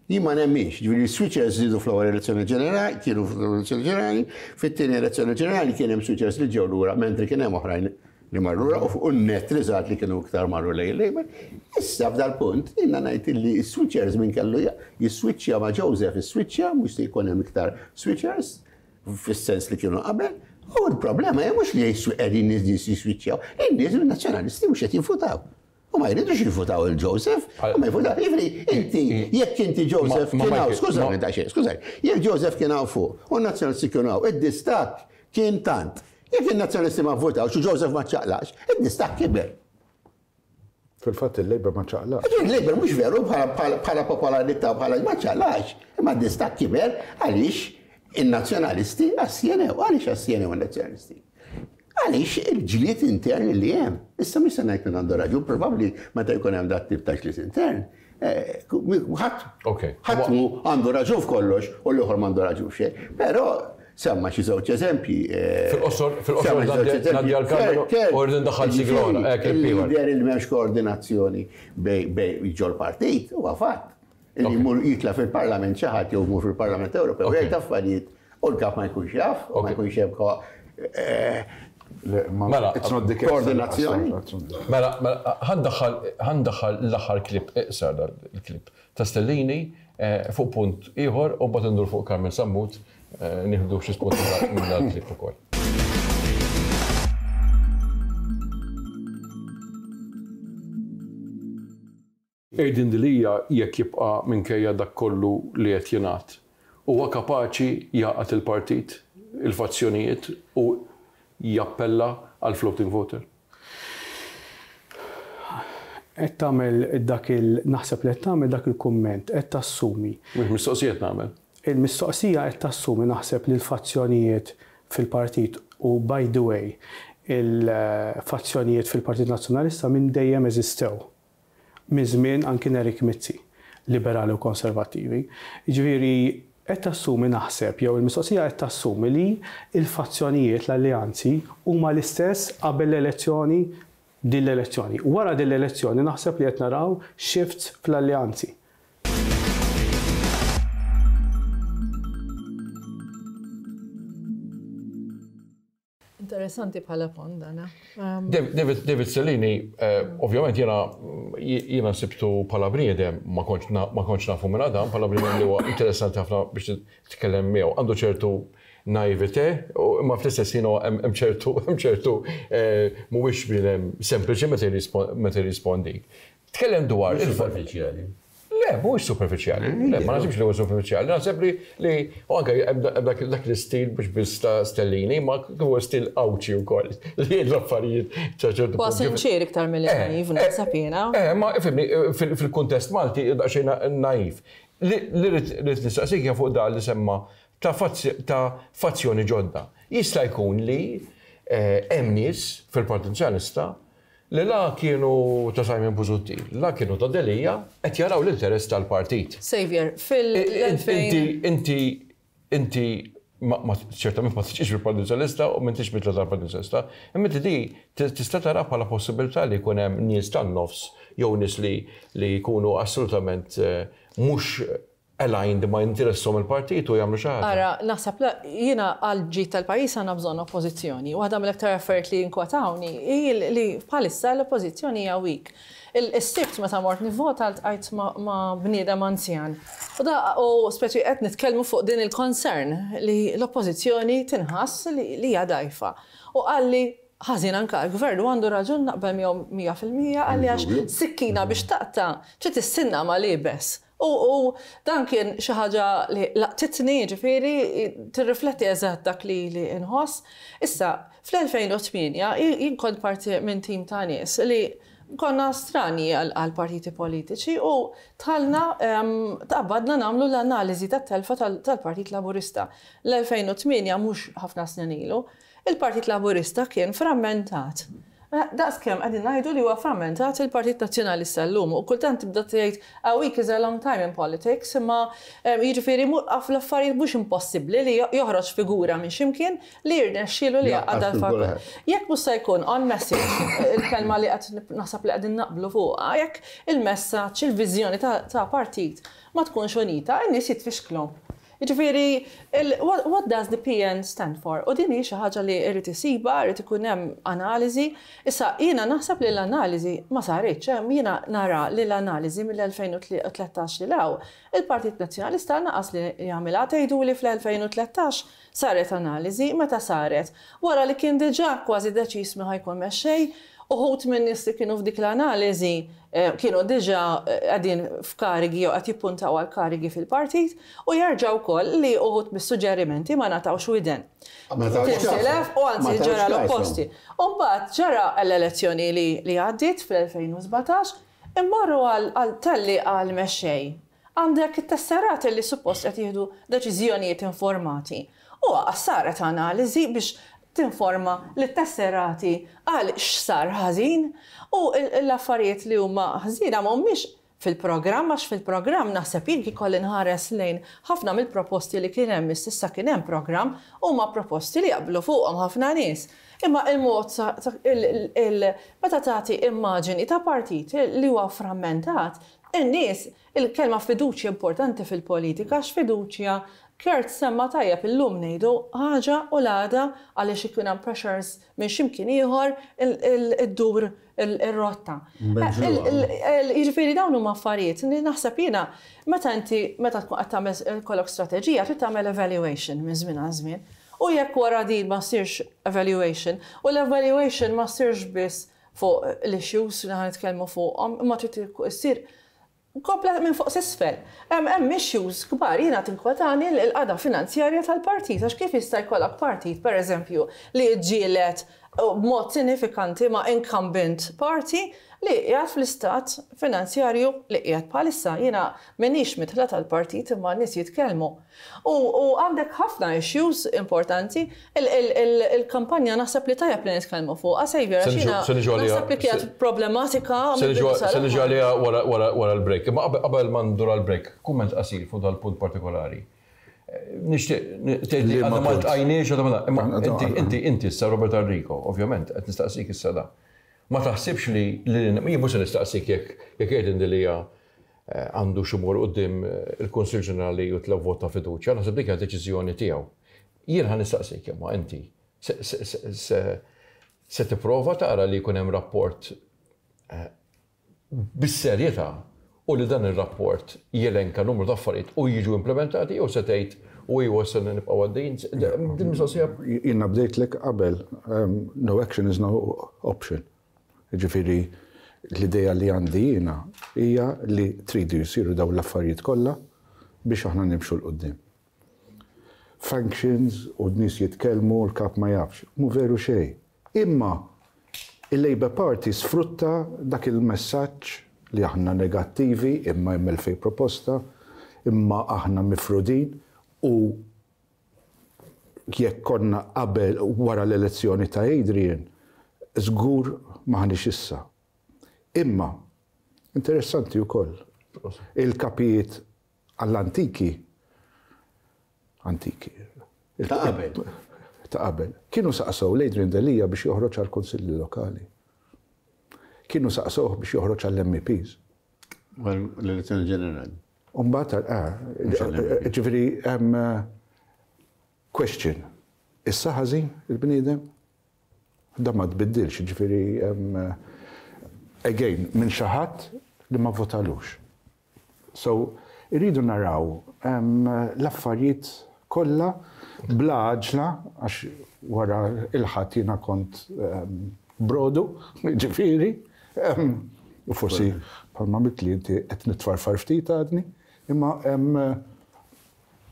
Jien ma nemminx, ġifieri switchers żdiedu fl-ewwel elezzjoni ġenerali, kienu fl-elezzjoni ġenerali, fit-tieni elezzjoni ġenerali kien hemm switchers li ġew lura mentri kien hemm oħrajn li marru lura u n-net riżat li kienu iktar marru lejn Labour. Issa f'dal punt jiena ngħid illi s-switchers min kellu jiswitchja ma' Joseph is-switchja mhux se jkun hemm iktar switchers fis-sens li kienu qabel. U l-problema hija mhux li qegħdin nies jiswitchjaw, in-nies nazzjonalisti mhux qed jinfutaw. U ma jridux jifutaw il-Joseph, u ma jifutaw. Jiġifieri, inti, jekk inti Joseph kien hawn, skużani ta' xejn, skużani, jekk Joseph kien hawn fuq u n-nazzjonalisti kienu hawn, id-distakk kien tant. Jekk in-nazzjonalisti ma vvotawx u Joseph ma ċaqlax, id-distakk kiber. Fil-fatt il-Labour ma ċaqlax. Il-Labour mhux veru bħala popolarità bħala ma ċaqlax, imma d-distakk kiber għaliex in-nazzjonalisti assjenew, għaliex assjenew in-nazzjonalisti. Għaliex il-ġlied intern li hemm. Issa mhux se ngħid minn għandu raġun, probabbli meta jkun hemm dat tip ta' ġlied intern. Ħadd ħadd għandu raġun f'kollox u l-ieħor m'għandu raġun f'xejn. Però semma xi żewġ eżempji. Fil-qosor, fil-qosor ngħaddi għall-Karmenu u rrid indaħħal sigla oħra. Jidher li m'hemmx koordinazzjoni bejn ġol-partit huwa fatt. Li jmur jitla' fil-Parlament xi ħadd jew jmur fil-Parlament Ewropew jgħid affarijiet u l-kap ma jkunx jaf, u ma jkunx hemm Mela, koordinazzjoni. Mela, ħa ndaħħal l-aħħar klip, iqsar il-klip ta' Stellini fuq punt ieħor u mbagħad indur fuq Carmel Sammut nieħdu xi spunti minn dal-klip ukoll. Adrian Delia jekk jibqa' minkejja dak kollu li qed jingħad, huwa kapaċi jaqgħad il-partit, il-fazzjonijiet u jappella għal floating voter? Qed tagħmel dak il naħseb li qed tagħmel dak il-kumment, qed tassumi. Mhux mistoqsijiet nagħmel. Il-mistoqsija qed tassumi naħseb li l-fazzjonijiet fil-partit u by the way, il-fazzjonijiet fil-Partit Nazzjonalista minn dejjem eżistew. Minn żmien anki Nerik Mizzi, liberali u konservattivi. Jiġifieri qed tassumi naħseb jew il-mistoqsija qed tassumi li l-fazzjonijiet l-alleanzi huma l-istess qabel l-elezzjoni din l-elezzjoni. Wara din l-elezzjoni naħseb li qed naraw shifts fl-alleanzi. Interessanti bħala pont dana. David, David Stellini, ovvjament jena jiena sibtu bħala bniedem, ma kontx nafu minn Adam, bħala bniedem li huwa interessanti ħafna biex titkellem miegħu. Għandu ċertu naivete, imma fl-istess ħin hemm ċertu hemm ċertu mhuwiex bniedem sempliċi meta jirrispondi. Tkellem dwar il-superfiċjali. Le, mhuwiex superfiċjali. Le, ma naħsibx li huwa superfiċjali. Naħseb li li anke hemm dak l-istil mhux biss ta' Stellini, ma huwa stil Għawdxi wkoll. Li l-affarijiet ta' ċertu. Huwa sinċir iktar milli naiv naħseb jiena. Eh, ma ifhimni fil-kuntest Malti daqsxejn naiv. Li rrid nistaqsik hija fuq dan li semma ta' fazzjoni ġodda. Jista' jkun li hemm nies fil-Partit Nazzjonalista li la kienu ta' Simon Busuttil, la kienu ta' Delia, qed jaraw l-interess tal-partit. Xavier, fil-elfejn... Inti, inti, inti, ċertament ma tiġix fil-Partit Nazzjonalista u m'intix mitla tal-Partit Nazzjonalista, imma inti di tista' tara bħala possibilità li jkun hemm nies tan-nofs jew nies li li jkunu assolutament mhux aligned ma jinteressom il-partit u jagħmlu xi ħaġa. Ara, naħseb jiena għal ġid tal-pajjiż għandna bżonn oppożizzjoni. Waħda mill-aktar affarijiet li jinkwetawni hi li bħalissa l-oppożizzjoni hija weak. Is-sibt meta mort nivvota ltqajt ma' bniedem anzjan. U da u speċi qed nitkellmu fuq din il-concern li l-oppożizzjoni tinħass li hija dgħajfa. U qalli ħażin anke l-gvern u għandu raġun naqbel miegħu mija fil-mija qalli għax sikkina biex taqta' trid issinna ma' liebes. U dan kien xi ħaġa li laqtitni, ġifieri tirrifletti eżatt dak li li nħoss. Issa, fl-elfejn u tmienja jien kont parti minn tim ta' nies li konna strani għal partiti politiċi u tħallna tqabbadna nagħmlu l-analiżi tat-telfa tal-Partit Laburista. L-elfejn u tmienja mhux ħafna snin ilu, il-Partit Laburista kien frammentat. Daqs kemm qegħdin ngħidu li huwa frammentat il-Partit Nazzjonalista llum u kultant tibda tgħid a week is a long time in politics, imma jiġifieri l-affarijiet mhux impossibbli li joħroġ figura minn x'imkien li jirnexxielu li jaqgħad dal-fatt. Jekk mhux se jkun on message il-kelma li qed naħseb li qegħdin naqblu fuqha, jekk il-messaġġ, il-viżjoni ta' partit ma tkunx unita, in-nies jitfixklu. Jiġifieri, what does the P N stand for? U din hi xi ħaġa li rrid isiba, rrid ikun hemm analiżi. Issa jiena naħseb li l-analiżi ma saritx, jiena nara li l-analiżi mill-elfejn u tlettax li law, il-Partit Nazzjonalista naqas li jagħmilha. Tgħidu li fl-elfejn u tlettax saret analiżi, meta saret? Wara li kien diġà kważi deċiż min ħajkun mexxej, uħut minn nies li kienu f'dik l-analiżi kienu diġà qegħdin f'karigi jew qed jippuntaw għal karigi fil-partit u jerġgħu wkoll li uħut mis-suġġerimenti ma ngħatawx widen. Tintilef u anzi ġara l-opposti. U mbagħad ġara l-elezzjoni li għaddiet fl-elfejn u sbatax, immorru għal telli għal mexxej. Għandek it-tesserati li suppost qed jieħdu deċiżjonijiet informati. U saret analiżi biex tinforma li tesserati għal x'sar ħażin u l-affarijiet li huma ħażina mhumiex fil-programm, għax fil-programm naħseb jien kif kolli nħares lejn ħafna mill-proposti li kien hemm issa kien hemm programm huma proposti li jaqblu fuqhom ħafna nies. Imma il-mod meta tagħti immaġini ta' partit li huwa frammentat, in-nies il-kelma fiduċja importanti fil-politika għax fiduċja Kurt semma tajjeb, illum ngħidu ħaġa u l-għada għaliex ikun hemm pressures minn x'imkien ieħor iddur ir-rotta. Jiġifieri dawn huma affarijiet li naħseb jiena meta inti meta tkun qed tagħmel kollok strateġija trid tagħmel evaluation minn żmien għal żmien. U jekk wara din ma ssirx evaluation, u l-evaluation ma ssirx biss fuq l-issues li ħa nitkellmu fuqhom, imma trid issir komplet minn fuq s'isfel. Hemm issues kbar, jiena tinkwetani l-qagħda finanzjarja tal-partit, għax kif jista' jkollok partit, pereżempju, li ġġieled b'mod sinifikanti ma' incumbent party li qiegħed fl-istat finanzjarju li qiegħed bħalissa. Jiena m'iniex midħla tal-partit imma nies jitkellmu. U għandek ħafna issues importanti, il-kampanja naħseb li tajjeb li nitkellmu fuqha, Xavier, għax jiena naħseb li kienet problematika. Se niġu għaliha wara l-break. Imma qabel ma ndur għall-break, kumment qasir fuq dal-punt partikolari. Nixtieq tgħid li għadna ma ltqajniex, imma inti inti issa Robert Arrigo, ovvjament qed nistaqsik issa da. Ma taħsibx li jien mhux se nistaqsik jekk jekk Adrian Delia għandu xi mur quddiem il-Kunsill Ġenerali u tlew vot ta' fiduċja, naħseb dik hija deċiżjoni tiegħu. Jien ħa nistaqsik imma inti se tipprova tara li jkun hemm rapport bis-serjetà u li dan ir-rapport jelenka numru ta' affarijiet u jiġu implementati jew se tgħid u iwa se nibqgħu għaddejjin. Din mistoqsija. Jiena bdejtlek qabel, no action is no option. Ġifieri l-idea li għandi jiena hija li tridu jsiru dawn l-affarijiet kollha biex aħna nimxu 'l quddiem. Functions u n-nies jitkellmu l-kap ma jafx. Mhu veru xejn. Imma il-Labour Party sfrutta dak il-messaġġ li aħna negattivi imma hemm elfejn proposta, imma aħna mifrudin u jekk konna qabel wara l-elezzjoni ta' Adrian, żgur maħniex issa. Imma, interessanti wkoll, il-kapijiet għall-antiki, antiki, Ta' qabel. Ta' qabel, kienu saqsow l-Adrian Delia biex joħroġ għall-kunsilli lokali. Kienu saqsowh biex joħroġ għall-M E Ps. L-elezzjoni ġenerali. Umbagħad, eh, ġifieri, hemm question. Issa ħażin il-bniedem? Da ma tbiddilx, ġifieri, again, minn xi ħadd li ma votalux. So, irridu naraw l-affarijiet kollha bla għaġla, għax wara il-ħadd jiena kont brodu, ġifieri, u forsi bħalma għamilt li inti qed nitfarfar ftit għadni, imma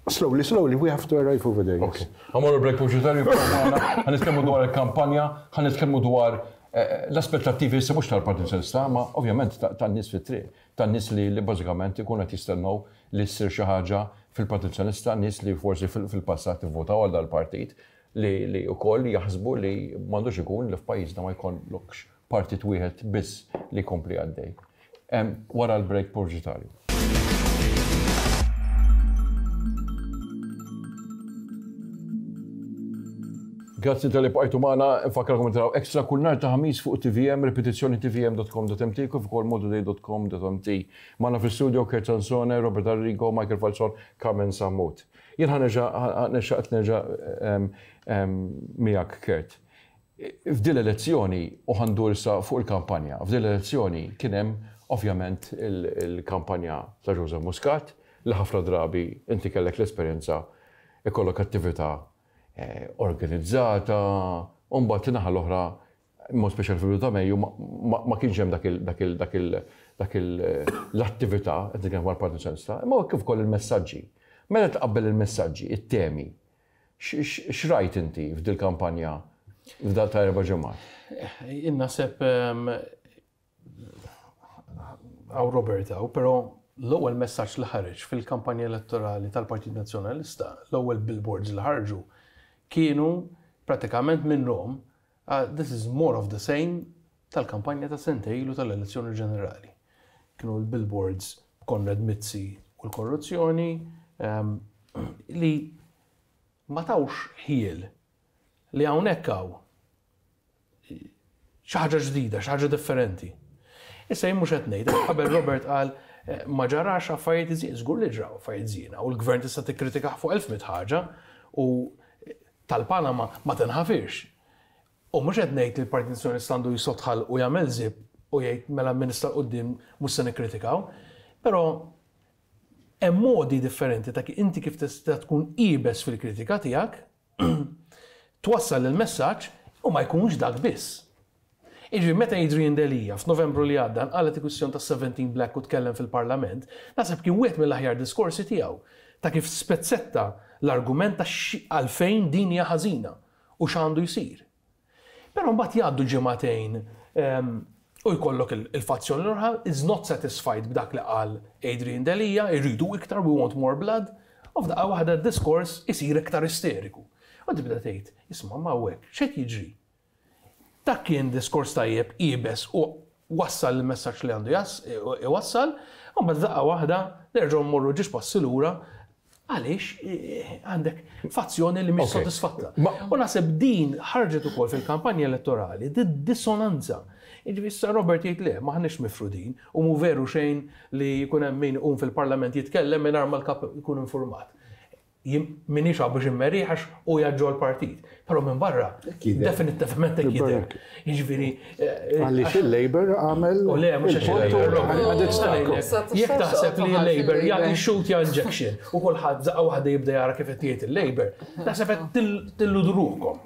slowly, slowly, we have to arrive over there. Okay. Għamorru break pubblicitariu, ħa nitkellmu dwar il-kampanja, ħa nitkellmu dwar l-aspettattivi issa mhux tal-Partit Nazzjonalista, ma ovvjament tan-nies fit-triq, tan-nies li bażikament ikunu qed jistennew li ssir xi ħaġa fil-Partit Nazzjonalista, nies li forsi fil-passat ivvotaw għal dal-partit li wkoll jaħsbu li m'għandux ikun li f'pajjiżna ma jkollokx partit wieħed biss li jkompli għaddej. Wara l-break pubblicitariu. Grazzi tal-li bqajtu magħna, nfakkarkom taraw Extra kull nhar ta' Ħamis fuq T V M, ripetizzjoni T V M dot com dot M T kif ukoll maltatoday dot com dot M T. Magħna fl-istudio Kurt Sansone, Robert Arrigo, Michael Falzon, Carmen Sammut. Jien ħa nerġa', ħa nerġa', miegħek Kurt. F'din l-elezzjoni, u ħandur issa fuq il-kampanja, f'din l-elezzjoni kien hemm ovvjament il-kampanja ta' Joseph Muscat li ħafna drabi inti kellek l-esperjenza ikollok attività organizzata, u mbagħad naħa l-oħra, mod speċjali fil-bidu ta' Mejju, ma kienx hemm dak l-attività qed nitkellem dwar Partit Nazzjonalista, imma kif ukoll il-messaġġi. Meta tqabbel il-messaġġi, it-temi, x'rajt inti f'dil kampanja f'dal ta' erba' ġimgħat? Jien naħseb għaw Robert għaw, però l-ewwel messaġġ li ħareġ fil-kampanja elettorali tal-Partit Nazzjonalista, l-ewwel billboards li ħarġu kienu pratikament minn Rom, this is more of the same tal-kampanja ta' sentejn ilu tal-elezzjoni ġenerali. Kienu l-billboards Konrad Mizzi u l-korruzzjoni li ma tawx ħiel li hawnhekk hawn xi ħaġa ġdida, xi ħaġa differenti. Issa jien mhux qed ngħid, qabel Robert qal Ma ġarax affarijiet ħżiena, żgur li ġraw affarijiet ħżiena, u l-gvern tista' tikkritikah fuq elf mitt ħaġa u tal-Panama ma tinħafirx. U mhux qed ngħid li l-Partit Nazzjonalista għandu jisotħal u jagħmel zip u jgħid mela minn issa 'l quddiem mhux se nikkritikaw, però hemm modi differenti ta' inti kif tista' tkun iebes fil-kritika tiegħek, twassal il-messaġġ u ma jkunx dak biss. Iġi, meta Adrian Delia f'Novembru li għadda qalet il-kwistjoni ta' seventeen Black u tkellem fil-Parlament, naħseb kien wieħed mill-aħjar diskorsi tiegħu ta' kif spezzetta l-argument ta' għalfejn din hija ħażina u x'għandu jsir. Però mbagħad jgħaddu ġimagħtejn u jkollok il-fazzjoni l-oħra is not satisfied b'dak li qal Adrian Delia, irridu iktar, we want more blood, u f'daqqa waħda d-diskors isir iktar isteriku. U tibda tgħid, isma' ma hawnhekk, x'qed jiġri? Dak kien diskors tajjeb iebes u wassal il-messaġġ li għandu iwassal, u mbagħad daqqa waħda nerġgħu mmorru ġiex passi lura għaliex għandek fazzjoni li mhix sodisfatta. U naħseb din ħarġet ukoll fil-kampanja elettorali, di dissonanza. Jiġifieri issa Robert jgħid le, m'aħniex mifrudin u mhu veru xejn li jkun hemm min iqum fil-Parlament jitkellem mingħajr ma l-kap ikun informat. Minix għabu ġimmeri għax u jaġġu l-partit. Pero minn barra, definitivament hekk jidher. Jiġifieri. Għaliex il-Labour għamel. U le, mhux għax il-Labour. Jekk taħseb li l-Labour jagħti shoot injection u kulħadd daqqa waħda jibda jara kif qed jgħid il-Labour, naħseb qed tilludruhom.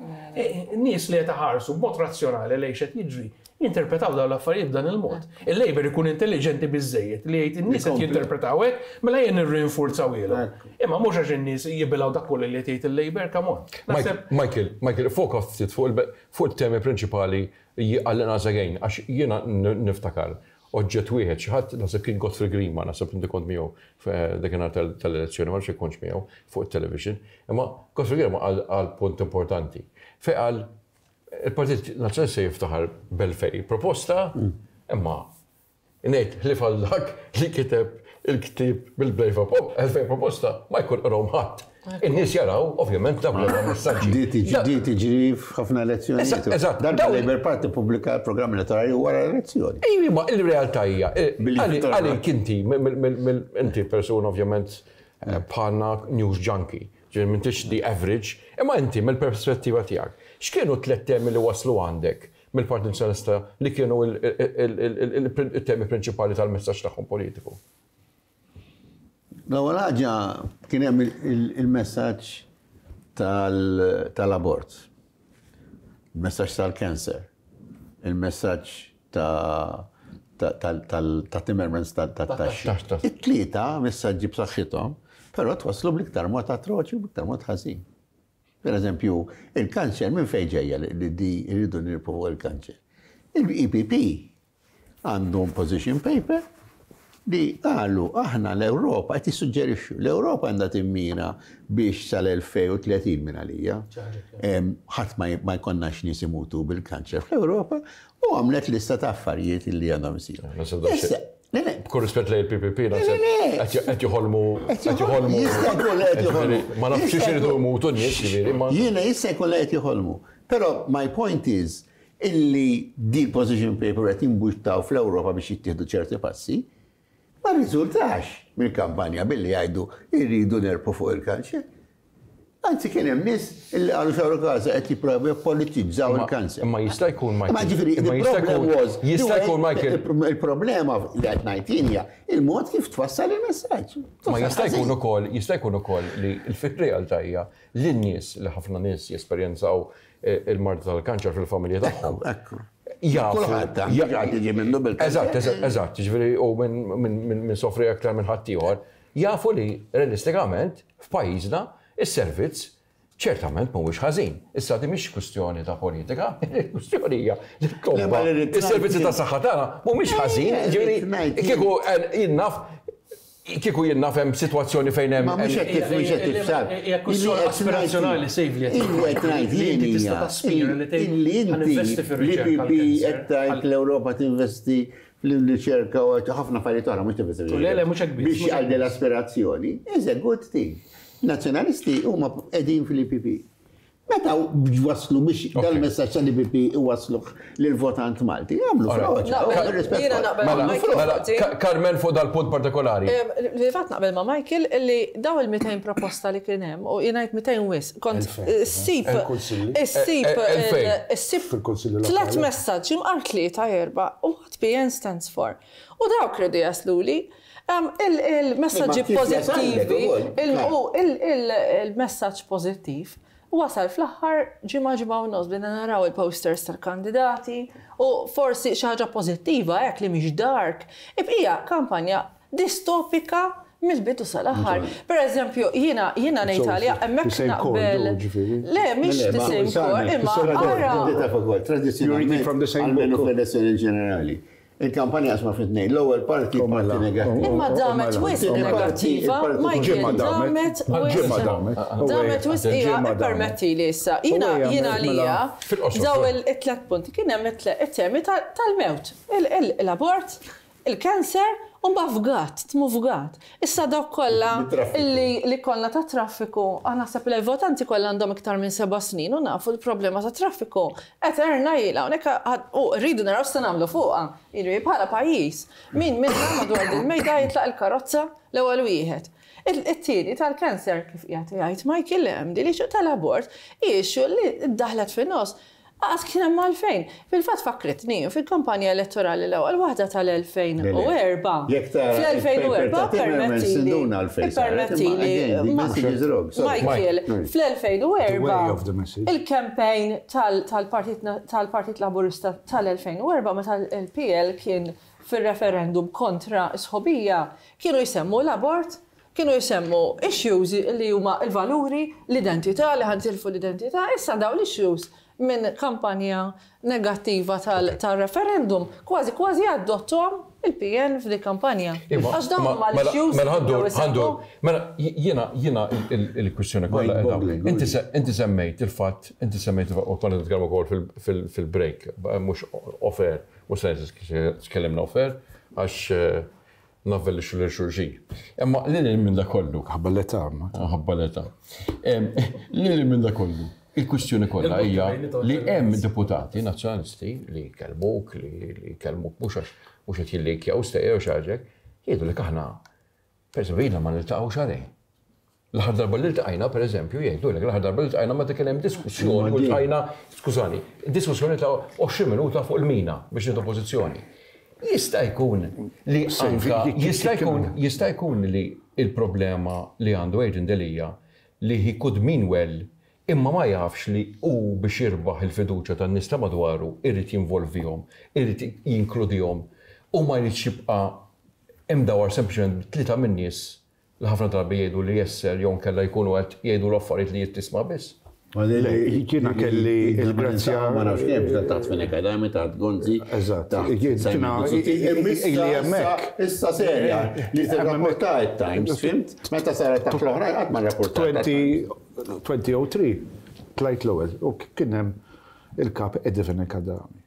Nies li qed iħarsu b'mod razzjonali lejn x'qed jiġri, jinterpretaw dawn l-affarijiet b'dan il-mod. Il-Labour ikun intelligenti biżejjed li jgħid in-nies qed jinterpretaw hekk, mela jien nirrinforzaw ilhom. Imma mhux għax in-nies jibilgħu dak kollu li qed jgħid il-Labour, come on. Michael, Michael, foka ftit fuq il-temi prinċipali għall-inqas again, għax jiena niftakar oġġett wieħed xi ħadd naħseb kien Godfrey Grima, naħseb inti kont miegħu dakinhar tal-elezzjoni, ma nafx kontx miegħu fuq it-television, imma Godfrey Grima qal punt importanti. Fejn qal il-Partit Nazzjonalista jiftaħar b'elfejn proposta, imma ngħid ħlief għal dak li kiteb il-ktieb bil-blejfa elfejn proposta ma jkun qrahom ħadd. In-nies jaraw, ovvjament, dawk li messaġġi. Di tiġri f'ħafna elezzjonijiet. Eżatt. Darba Labour Party pubblika l-programm elettorali wara l-elezzjoni. Ejwa, ma il-realtà hija, għalik inti, inti persuna ovvjament bħalna news junkie, ġifieri m'intix the average, imma inti mill-perspettiva tiegħek, x'kienu tliet temi li waslu għandek mill-Partit Nazzjonalista li kienu il-temi prinċipali tal-messaġġ tagħhom politiku? L-ewwel ħaġa kien hemm il-messaġġ tal-abort, il-messaġġ tal-cancer, il-messaġġ ta' Timmermans tat-taxxi. It-tlieta messaġġi b'saħħithom, però twasslu bl-iktar mod atroċi u bl-iktar mod ħażin. Per eżempju, il-kanċer minn fejn ġejja li di rridu nirpu fuq il-kanċer. Il-E P P għandhom position paper li qalu aħna l-Ewropa qed jissuġġerixxu l-Ewropa għandha timmira biex sal-elfejn u tletin minn għalija. Ħadd ma jkollnax nies imutu bil-kanċer fl-Ewropa u għamlet lista ta' affarijiet li għandhom isiru. B'kull rispett lejn il-P P P, qed joħolmu, qed joħolmu. Jista' jkun li qed joħolmu. Ma nafx x'iridu jmutu n-nies, ġifieri, ma Jiena jista' jkun li qed joħolmu. Però my point is illi di position paper qed jimbuttaw fl-Ewropa biex jittieħdu ċerti passi, ma rriżultax mill-kampanja billi jgħidu irridu nerpu fuq il-kanċer. Anzi kien hemm nies illi qalu xawru każa qed jipprovaw jippolitizzaw il-kanċer. Imma jista' jkun Michael. Ma ġifieri, Imma the jista' problem jkun was, jista' the jkun way Michael. Il-problema li qed ngħid jien hija il-mod kif twassal il-messaġġ. Ma jista' jkun ukoll, jista' jkun ukoll li fir-realtà hija li n-nies li ħafna nies jesperjenzaw il-marda tal-kanċer fil-familja tagħhom. Ekku. Jafu. Kulħadd ta' ħadd jiġi minnu bil-kanċer. Eżatt, eżatt, eżatt, ġifieri u minn sofri aktar minn ħaddieħor, jafu li realistikament f'pajjiżna is-servizz ċertament mhuwiex ħażin. Issa di mhix kwistjoni ta' politika, il-kwistjoni hija li t-tobba is-servizzi ta' saħħa tagħna mhumiex ħażin, ġifieri kieku jien naf kieku jien naf hemm sitwazzjoni fejn hemm Ma mhux qed tif, mhux qed tifsar. Hija kwistjoni aspirazzjonali sejf li qed Illi qed ngħid li inti jien tista' hija taspira li tgħid illi inti ħaninvesti fir-riċerka l-I P P għall-kanser. qed tgħid l-Ewropa tinvesti fl-riċerka u ħafna affarijiet oħra mhux tinvesti U le, le, mhux hekk biss, Biex mhux hekk għal l-aspirazzjoni, is a good thing. Nazzjonalisti huma qegħdin fil-I P P. Meta waslu biex dal-messaġġ tal-E P P waslu lill-votant Malti, għamlu frodi. Mela, Carmen, fuq dal-punt partikolari. Li fatt naqbel ma' Michael li daw il-mitejn proposta li kien hemm u jiena mitejn wisq, kont issib issib issib tliet messaġġi, imqar tlieta, erba', u what P N stands for. U dawk rridu jasluli il-messaġġi pozittivi, il-messaġġ pozittiv wasal fl-aħħar ġimgħa, ġimgħa u nofs, bdejna naraw il-posters tal-kandidati u forsi xi ħaġa pożittiva hekk li mhix dark. Ibqija kampanja distopika mill-bidu sal-aħħar. Per eżempju, jiena jiena ngħid għalija hemmhekk naqbel. Le, mhix the same core, imma ara. Tradizzjonalment, almenu fl-elezzjoni ġenerali, il-kampanja qasma fi tnejn, l-ewwel parti, parti negattiva. Imma damet wisq negattiva, Michael, damet wisq. Damet wisq hija, permetti li issa. Jiena jiena lija daw it-tlet punti kien hemm it-temi tal-mewt, l-abort, il-kanser, u fgat, tmu fgat. Issa dawk kollha li li kollha ta' traffiku, għana naħseb li l-votanti kollha għandhom iktar minn seba' snin u nafu l-problema ta' traffiku. Eterna ilha, u rridu naraw se nagħmlu fuqha. Jiġifieri bħala pajjiż. Min minna madwar din mejda jitlaq il-karozza l-ewwel wieħed? It-tieni tal-kanser, kif qiegħed jgħid Michael, hemm di li tal-abort, issue li ddaħlet fin-nofs. Għas kien hemm għalfejn. Fil-fatt fakritni fil-kampanja elettorali l-ewwel waħda tal-elfejn u erbgħa. Fl-elfejn u erbgħa, permettili. Permettili. Michael, fl-elfejn u erbgħa il-campaign tal-Partit Laburista tal-elfejn u erbgħa, meta l-P L kien fil-referendum kontra sħobija, kienu jsemmu l-abort, kienu jsemmu issues li huma il-valuri, l-identità, li ħa nitilfu l-identità. Issa daw l-issues minn kampanja negattiva tal-referendum, kważi kważi adottom il-P N f'di kampanja. Għax dawn huma l-issues. Mela ħandur, ħandur, mela jiena jiena il-kwistjoni kollha qiegħda. Inti semmejt il-fatt, inti semmejt u konna nitkellmu wkoll fil-break, mhux off-air, mhux se tkellimna off-air għax eh, navvelixxu lil xulxin. Imma lil minn da kollu. Ħabba l-età. Ħabba l-età. Lil minn da kollu. Il-kwistjoni kollha hija li hemm deputati nazzjonalisti li kellmuk, li kellmuk mhux għax mhux qed jillikjaw stejjer u xi ħaġa, jgħidu li aħna pereżempju ilna ma niltaqgħu xahrejn. L-aħħar darba li ltqajna, pereżempju, jgħidu lek l-aħħar darba li ltqajna meta kien hemm diskussjoni u ltqajna, skużani, diskussjoni ta' għoxrin minuta fuq il-mina biex nieħdu pożizzjoni. Jista' jkun li anka jista' jkun jista' jkun li il-problema li għandu Adrian Delia li he could mean well, imma ma jafx li u biex jirbaħ il-fiduċa tan-nies ta' madwaru irid jinvolvihom, irid jinkludihom u ma jridx jibqa' imdawar sempliċement tlieta min-nies li ħafna drabi jgħidu li jesser jew nkella jkunu qed jgħidu l-affarijiet li jittisma' biss. Jiena kelli il-grazzja. Ma nafx kemm, taħt Fenech Adami, taħt Gonzi. Eżatt. Jiena ili hemmhekk. Issa serja li tirrapporta Times, fhimt? Meta saret taħt l-oħrajn qatt ma rrapporta. elfejn u tlieta tlajt l-ewwel u kien hemm il-kap Eddie Fenech Adami.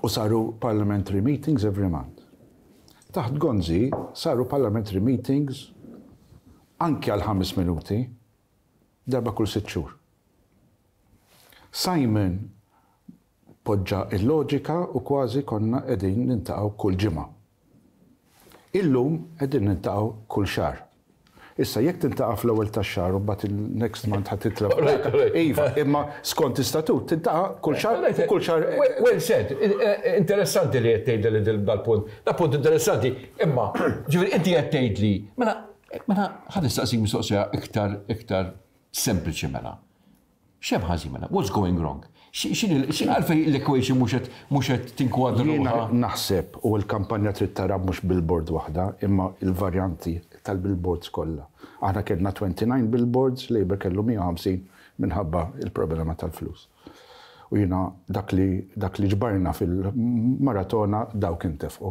U saru parliamentary meetings every month. Taħt Gonzi saru parliamentary meetings anke għal ħames minuti darba kull sitt xhur. Simon poġġa il-loġika u kważi konna qegħdin niltaqgħu kull ġimgħa. Illum qegħdin niltaqgħu kull xahar. Issa jekk tiltaqa' fl-ewwel tax-xahar u mbagħad il-next month ħa titla'. Iva, imma skont istatut tiltaqa' kull xahar u kull xahar. Well said, interessanti li qed tgħid li dal-punt. Da punt interessanti, imma ġifieri inti qed tgħid li mela mela ħa nistaqsik mistoqsija iktar iktar sempliċi mela. X'hemm ħażin mela? What's going wrong? X'inhi għalfejn l-equation mhux qed mhux qed tinkwadra Jiena ruħha? naħseb u l-kampanja trid tara mhux billboard waħda, imma il-varjanti tal-billboards kollha. Aħna kellna disgħa u għoxrin billboards, Labour kellu mija u ħamsin minħabba il-problema tal-flus. U jiena dak li dak li ġbarna fil-maratona dawk intefqu.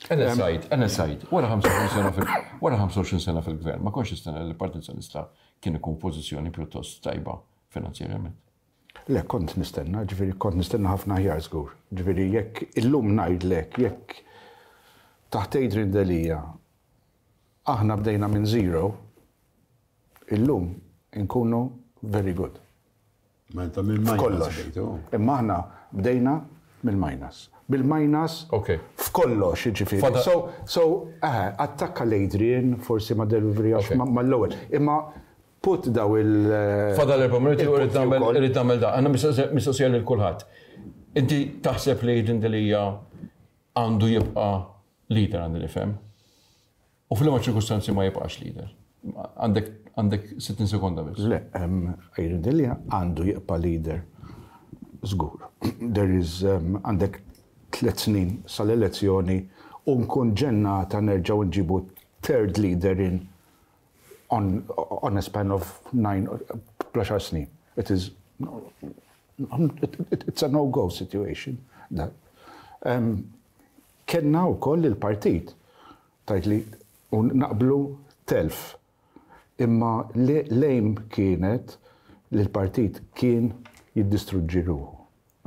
Ena sajd, ena sajd, wara ħamsa u għoxrin sena fil wara ħamsa u għoxrin sena fil-gvern, ma kontx nistenna li l-Partit Nazzjonalista kien ikun pożizzjoni pjuttost tajba finanzjarjament. Le, kont nistenna, ġifieri kont nistenna ħafna aħjar żgur. Ġifieri jekk illum ngħidlek, jekk taħt Adrian Delia aħna bdejna minn zero, illum Inkunu very good. Ma intom mill-minus F'kollox. bdejtu. Imma aħna bdejna mill-minus. Bil-minus Ok. f'kollox, jiġifieri. Fada- So, so, eh, attakka l-Adrian, forsi ma delivery Ok. ma l-ewwel. Imma put daw il- Fadal erba' minuti u rrid il-punti nagħmel wkoll. irrid nagħmel da. Għandna mistoqsija lil kulħadd. Inti taħseb li Adrian Delia għandu jibqa' leader, għandi nifhem? U fil-ma ċirkustanzi ma jibqax leader? Għandek għandek sittin sekonda biss. Le, um, Adrian Delia għandu jibqa' leader. Żgur. There is, um, għandek tliet snin sal-elezzjoni u nkun ġennata nerġgħu nġibu third leader in on, on a span of nine plus snin. It is, it, it, it's a no-go situation. That. Um, Kenna u koll il-partit, tajt li u naqblu telf. Imma l-aim kienet li l-partit kien jiddistruġġi ruħu.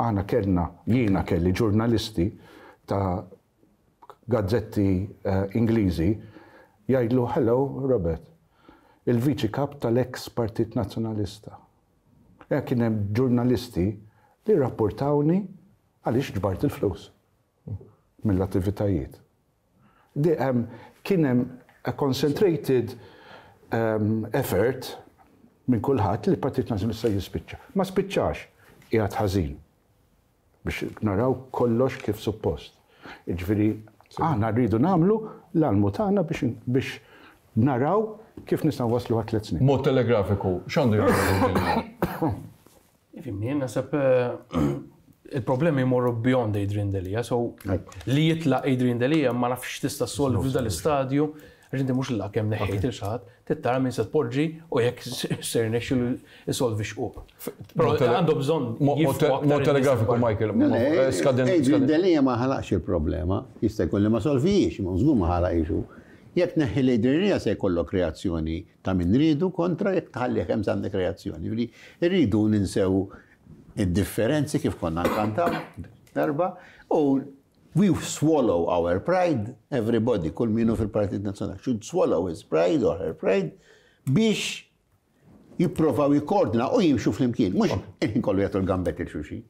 Aħna kellna, jiena kelli ġurnalisti ta' gazzetti uh, Ingliżi jgħidlu: "Hello Robert, il-viċi kap tal-ex Partit Nazzjonalista." Ja, kien hemm ġurnalisti li rapportawni għaliex ġbart il-flus mill-attivitajiet. Di, um, kien hemm a concentrated um, effort minn kulħadd li l-Partit Nazzjonalista jispiċċa. Ma spiċċax, qiegħed ħażin biex naraw kollox kif suppost. Jiġifieri, aħna rridu nagħmlu l-almu tagħna biex, biex naraw kif nistgħu waslu għal tliet snin. Mod telegrafiku, x'għandu jagħmel Delia? Ifhimni, naħseb eh, il-problemi jmorru beyond Adrian Delia, so li jitlaq Adrian Delia ma nafx tista' solvi f'dal-istadju, għax inti mhux l kemm neħħejt il xi ħadd, trid tara min se tpoġġi u jekk ser nexxilu isolvi xquq. Però għandu bżonn Mod telegrafiku, Michael. Adrian Delia ma ħalaqx il-problema, jista' jkun li ma solvijiex, ma żgur ma ħalaqx. Jekk neħħi l-Adrian Delia se jkollok reazzjoni ta' min ridu kontra, jekk tħalli hemm għandek reazzjoni. Irridu ninsew id-differenzi kif konna nkantaw darba u we swallow our pride, everybody, kull minu fil-Partit Nazzjonali, should swallow his pride or her pride biex jipprovaw jikkoordina u jimxu flimkien, mhux il-ħin kollu jagħtu l-gambet lil xulxin.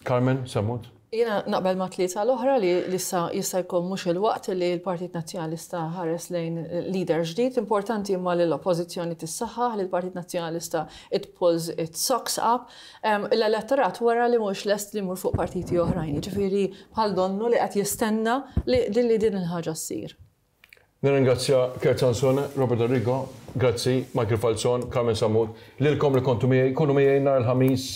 Carmen Sammut? Jiena naqbel ma' tlieta l-oħra li issa jista' jkun mhux il-waqt li l-Partit Nazzjonalista ħares lejn leader ġdid. Importanti imma li l-oppożizzjoni tissaħħaħ, li l-Partit Nazzjonalista it pulls its socks up. L-elettorat wara li mhux lest li jmur fuq partiti oħrajn. Ġifieri bħal donnu li qed jistenna li din li din il-ħaġa ssir. Nirringrazzja Kurt Sansone, Robert Arrigo, grazzi, Michael Falzon, Carmen Sammut, lilkom li kontu miegħi, kunu miegħi nhar il-Ħamis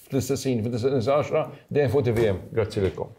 fl-istess ħin, fil-għaxra, dejjem fuq T V M. Grazzi lilkom.